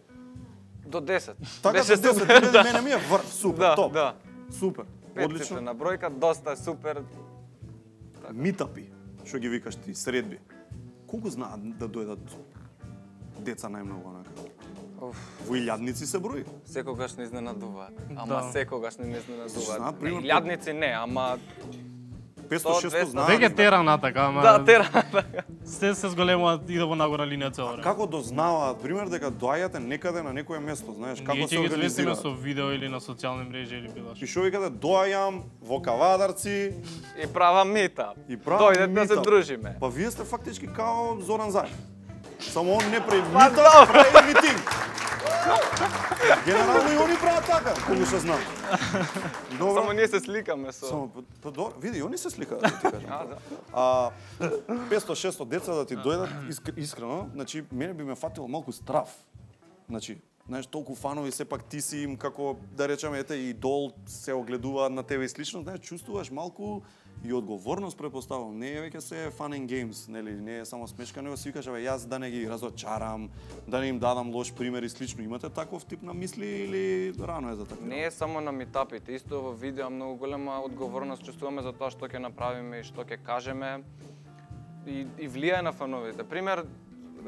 до 10. Така до 10, мене ми е врв, супер, топ. Да. Супер. Одлично. На бројка доста е супер. Митапи, што ги викаш ти, средби. Колку знаат да дојдат деца најмногу онака? Во илјадници се брои. Секогаш не изненадуваат. Ама секогаш не изненадуваат. Знаат, пример, илјадници не, ама 500-600 знаат. Веќе тера натака, ама да, тера натака. Се зголемуваат и да во нагора линија цело време. Како дознаваат, пример, дека доаѓате некаде на некое место, знаеш, како се организираат? Ние со видео или на социјални мрежи или било што. И што викате, доаѓам во Кавадарци и правам митап. Дојдете да се дружиме. Па вие сте фактички као Зоран Заев. Само он не прави митап, прави митинг. Генерално и они прават така, колку што знам. Само ние се сликаме со. Само види, они се сликаат, да ти кажам. 500-600 деца да ти дојдат искрено, значи мене би ме фатило малку страв. Значи, знаеш, толку фанови сепак ти си им како да речеме ете идол, се огледуваат на тебе и слично, знаеш, чувствуваш малку и одговорност претпоставувам. Не е веќе се fun and games, нели, не е само смешка, него си викаш, јас да не ги разочарам, да не им дадам лош пример и слично. Имате таков тип на мисли или рано е за така? Не е само на митапите, исто во видео многу голема одговорност чувствуваме за тоа што ќе направиме и што ќе кажеме и влијае на фановите. Пример,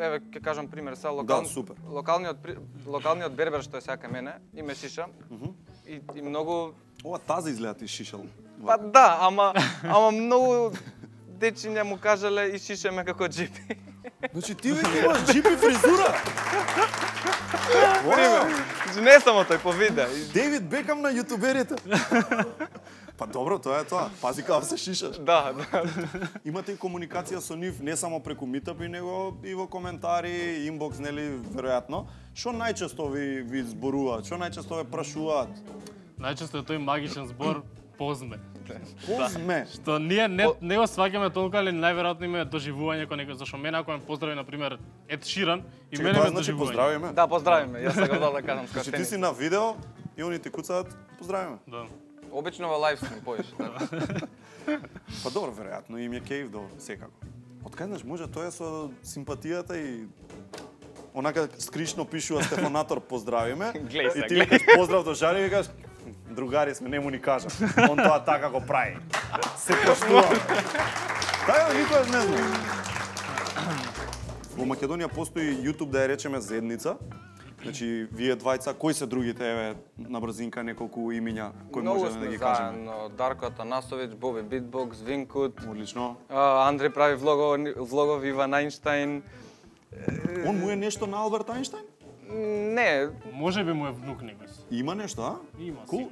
еве ќе кажам пример, са супер. локалниот бербер што е сега кај мене, име шиша. И многу Ова тази изгледа ти шишал. Па да, ама многу дечиња му кажале и шишеме како джипи. Значи ти веќе имаш джипи фризура. Значи не само тој по видео. Дейвид Бекам на јутуберите. Па добро, тоа е тоа. Пази како се шишаш. Да. Имате и комуникација со нив не само преку Meetup, него и во коментари, инбокс, нели, веројатно. Што најчесто ви зборуваат? Што најчесто ве прашуваат? Најчесто е тој магичен збор позме. Позме. Што ние не го сваќаме толку, али најверојатно има доживување кон некој, зашто мене ако ме поздрави на пример Ед Ширан и мене ме доживување. Поздравиме? Да, поздравиме. Јас сакам да кажам Значи ти си на видео и они ти куцаат поздравиме. Да. Обично во лайвстрим поиш. Па добро, веројатно им е кејф, добро, секако. Откај може тоа е со симпатијата и онака скришно пишува Стефанатор поздравиме. И ти викаш поздрав до Жари и викаш другари сме, не му ни кажам. Он тоа така го прави. Се поштува. Така никогаш не знам. Во Македонија постои YouTube, да ја речеме, заедница. Значи, вие двајца, кои се другите, еве, на брзинка неколку имиња, кои можеме да ги кажеме? Заедно, Дарко Атанасовиќ, Боби Битбокс, Винкут. Одлично. Андреј прави влогови, Иван Ајнштајн. Он му е нешто на Алберт Ајнштајн? Не. Може би му е внук некој. Има нешто, а? Има. Кул,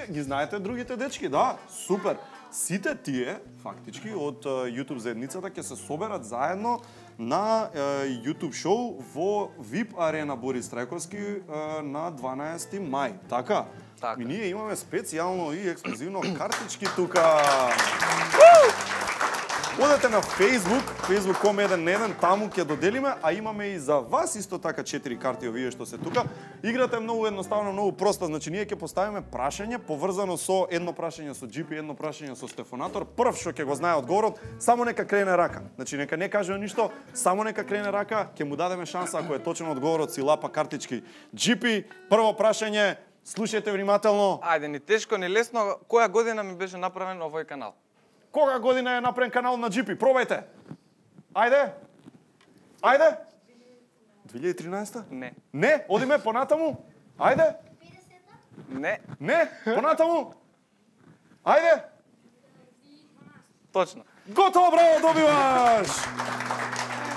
ги знаете другите дечки, да, супер. Сите тие, фактички, од YouTube заедницата ќе се соберат заедно на YouTube шоу во VIP арена Борис Трајковски на 12 мај. Така? И ние имаме специјално и ексклузивно картички тука. Одете на Facebook, facebook.com/1 таму ќе доделиме, а имаме и за вас исто така 4 карти овие што се тука. Играта е многу едноставно, многу проста, значи ние ќе поставиме прашање поврзано со едно прашање со GP, едно прашање со Стефанатор. Прв што ќе го знае одговорот, само нека крене рака. Значи нека не каже ништо, само нека крене рака, ќе му дадеме шанса ако е точен одговорот, си лапа картички. GP, прво прашање, слушајте внимателно. Ајде, ни тешко, ни лесно, која година ми беше направен овој канал? Кога година е направен канал на GP? Пробајте. Ајде. Ајде. 2013? Не. Не? Одиме понатаму? Ајде. Не. Не? Понатаму? Ајде. Точно. Готово, браво, добиваш.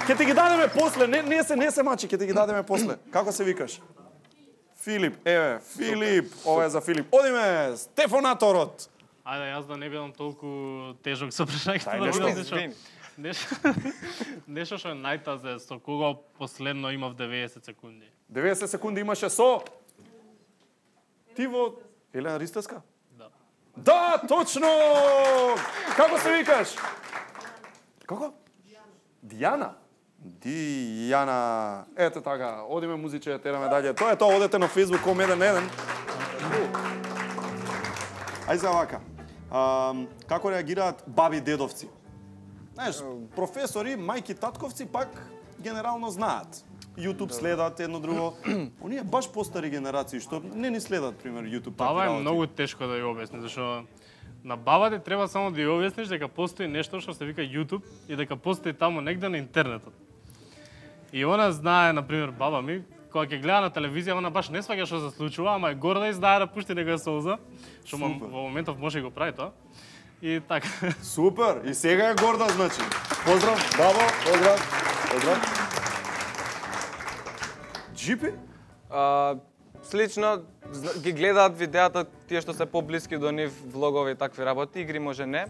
Ќе ти ги дадеме после, не се мачи, ќе ти ги дадеме после. Како се викаш? Филип, еве, Филип, ова е за Филип. Одиме, Стефанаторот. Ајде, јас да не бидам толку тежок со прашањето. Нешто што е најтазе, со кого последно имав 90 секунди. 90 секунди имаше со... Ти во... Елена Ристевска? Да. Да, точно! Како се викаш? Како? Дијана. Дијана. Ето така, одиме музиче, тераме далje. Тоа е тоа, одете на facebook.com/1. Ај за вака. Како реагираат баби дедовци? Знаеш, професори, мајки, татковци пак генерално знаат. YouTube следат едно друго. Оние баш постари генерации што не ни следат, пример, YouTube. Баба е многу тешко да ја објасни, зашто на бабата треба само да ја објасниш дека постои нешто што се вика YouTube и дека постои таму негде на интернетот. И она знае, на пример, баба ми, кога ќе гледа на телевизија, она баш не сваќа што се случува, ама е горда и знае да пушти некоја солза, што во моментов може и го прави тоа. И така. Супер! И сега е горда, значи. Поздрав, бабо, поздрав. Джипи? Слично, ги гледаат видеата тие што се поблиски до нив, влогови и такви работи, игри може не.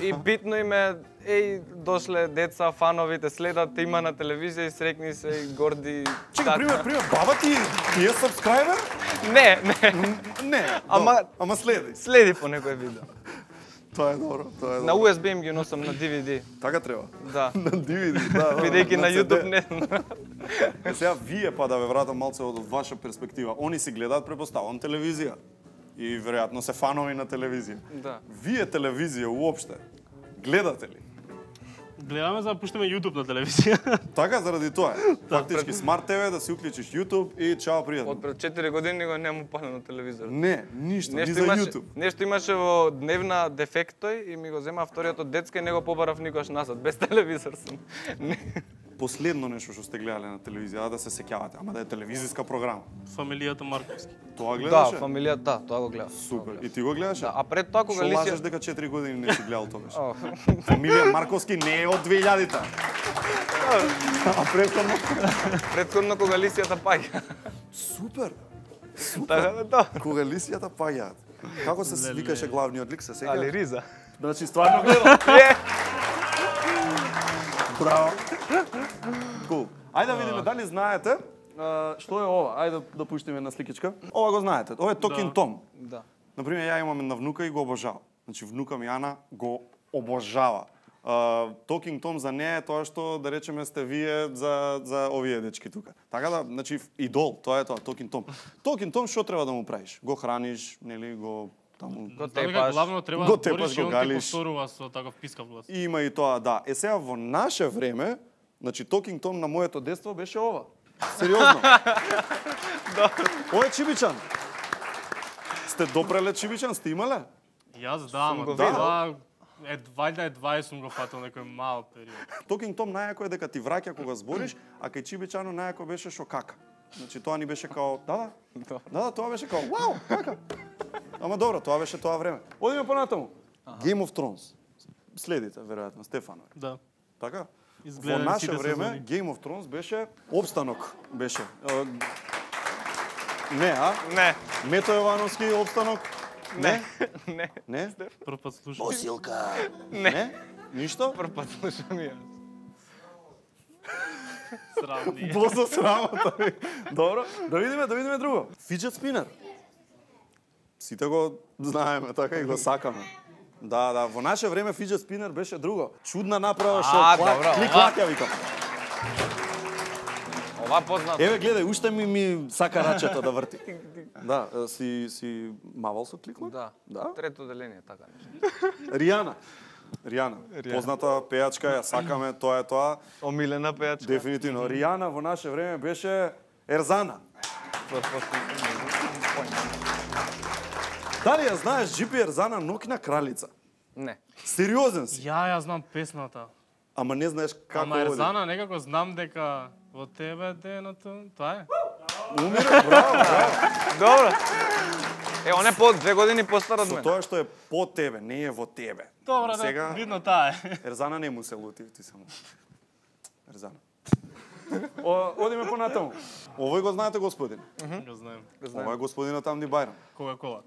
И битно им е, дошле деца, фановите следат, има на телевизија и срекни се и горди. Чекай, пример, баба ти е сабскрайбер? Не. Ама следи. Следи по некој видео. Тоа е добро, На USB им ги носам на DVD. Така треба. Да. На DVD, да. Бидејќи на YouTube не. Сега вие па да ве вратам малце од ваша перспектива. Они си гледаат, препоставам, телевизија. И веројатно се фанови на телевизија. Да. Вие телевизија уопште гледате ли? Гледаме за да пуштиме YouTube на телевизија. Така, заради тоа е. Фактички Smart TV да си уклучиш YouTube и чао, пријатно. Од пред 4 години го нему палено телевизор. Не, ништо, ни за YouTube. Нешто имаше во дневна дефект тој и ми го зема вториот од детска и не го побарав никош назад, без телевизор сум. последно нешто што сте гледале на телевизија, да се сеќавате, ама да е телевизиска програма? Фамилијата Марковски. Тоа гледаше? Да, фамилијата, да, тоа го гледав. Супер. И ти го гледаше? Да, а пред тоа кога Лисија... Шо лажеш дека 4 години не си гледал тоа беше? Фамилија Марковски не е од 2000-та. А претходно? Претходно кога Лисијата паѓа. Супер. Да. Кога Лисијата паѓаат. Како се викаше главниот лик, се сеќаш? Али Риза. Значи стварно гледал. Браво. Кул. Ајде да видиме дали знаете што е ова. Ајде да пуштиме на сликичка. Ова го знаете. Ова е Talking Tom. Да. Например, ја имам една внука и го обожава. Значи внука ми Ана го обожава. Talking Tom за неа е тоа што да речеме сте вие за овие дечки тука. Така да, значи идол, тоа е тоа Talking Tom. Talking Tom што треба да му правиш? Го храниш, нели, го таму го тепаш. Главно треба да говориш и он ти повторува со таков пискав глас. Има и тоа, да. Е сега во наше време, значи Talking Tom на моето детство беше ова. Сериозно. Ова е Чибичан. Сте допреле Чибичан, сте имале? Јас да, ама да. Вајда едва сум го фатил некој мал период. Talking Tom најако е дека ти враќа кога збориш, а кај Чибичано најако беше шо кака. Значи тоа ни беше као, да, тоа беше као, вау, кака. Ама добро, тоа беше тоа време. Одиме понатаму. Game of Thrones. Следите, веројатно, Стефанови. Да. Така? Во наше време Game of Thrones беше обстанок, беше. Не, а? Не. Мето Јовановски обстанок? Не. Не? Прв пат слушам. Босилка. Не. Ништо? Прв пат слушам јас. Срамни. Босо срамота. Добро, да видиме друго. Fidget spinner. Сите го знаеме, така и го сакаме. Да, во наше време fidget spinner беше друго. Чудна направа што клик-клак ја викам. Ова познато. Еве гледај, уште ми сака рачето да врти. Да, си мавал со клик-клак? Да. Трето деление, така нешто. Ријана, позната пејачка, ја сакаме, тоа е тоа. Омилена пејачка. Дефинитивно. Ријана во наше време беше Ерзана. Дали ја знаеш Джипи Ерзана Ноќна кралица? Не. Сериозен си? Ја знам песната. Ама не знаеш како Ама Ерзана некако знам дека во тебе деното, тоа е. Умира, браво. Добро. Он е по 2 години постар од мене. Со тоа што е по тебе, не е во тебе. Добро, да, видно таа е. Ерзана не му се лути, ти само. Ерзана. Одиме понатаму. Овој го знаете, господин? Го знаем. Ова е господинот Амди Бајрам. Кока-кола.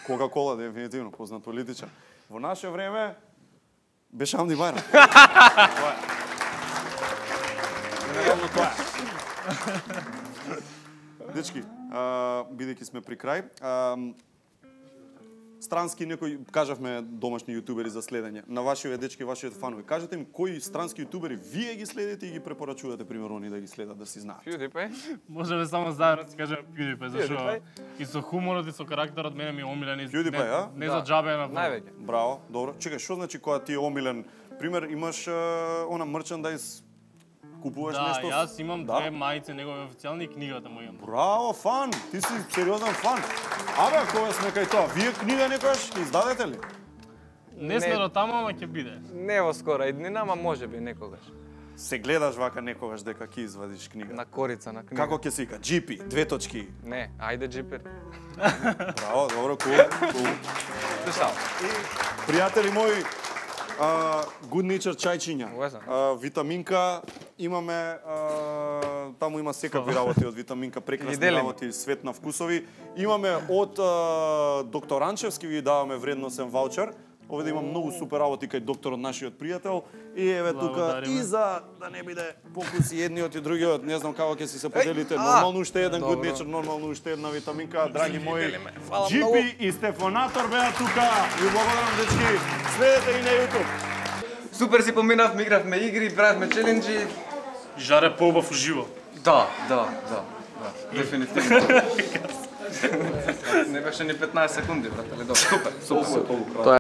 Кока-кола, дефинитивно, познат политичар. Во наше време беше Амди Бајрам. Генерално тоа. Дечки, бидејќи сме при крај, странски некои, кажавме домашни јутубери за следење, на вашите дечки, вашите фанови. Кажете ми кои странски јутубери вие ги следите и ги препорачувате, примерно, они да ги следат, да си знаат. PewDiePie? Можеме само заедно да кажеме PewDiePie, зашто и со хуморот и со карактерот мене ми е омилен. PewDiePie, а? Не за џабе на највеќе. Браво, добро. Чекај, што значи кога ти е омилен? Пример, имаш она мерчендайз, купуваш нешто? Да, јас имам 2 мајци негови официјални и книгата му имам. Браво, фан! Ти си сериозен фан. Абе, кога сме кај тоа, вие книга некојаш ќе издадете ли? Не сме до таму, ама ќе биде. Не во скора иднина, ама можеби некогаш. Се гледаш вака некогаш дека ќе извадиш книга? На корица на книга. Како ќе се вика? GP, 2 точки. Не, ајде GP. Браво, добро, кул. Слушал. Пријатели мои, Good Nature чајчиња. Витаминка, имаме, таму има секакви работи од витаминка, прекрасни работи, свет на вкусови. Имаме од доктор Анчевски, ви даваме вредносен ваучер. Овде има многу супер работи кај докторот нашиот пријател. И еве тука и за да не биде покуси едниот и другиот, не знам како ќе си се поделите. Нормално уште еден Good Nature, нормално уште една витаминка, драги мои. Джипи и Стефонатор беа тука. Ви благодарам, дечки. Следете и на YouTube. Супер си поминавме, игравме игри, правевме челенџи. Жаре поубав уживо. Да. Дефинитивно. Не беше ни 15 секунди, брат, али добро. Супер.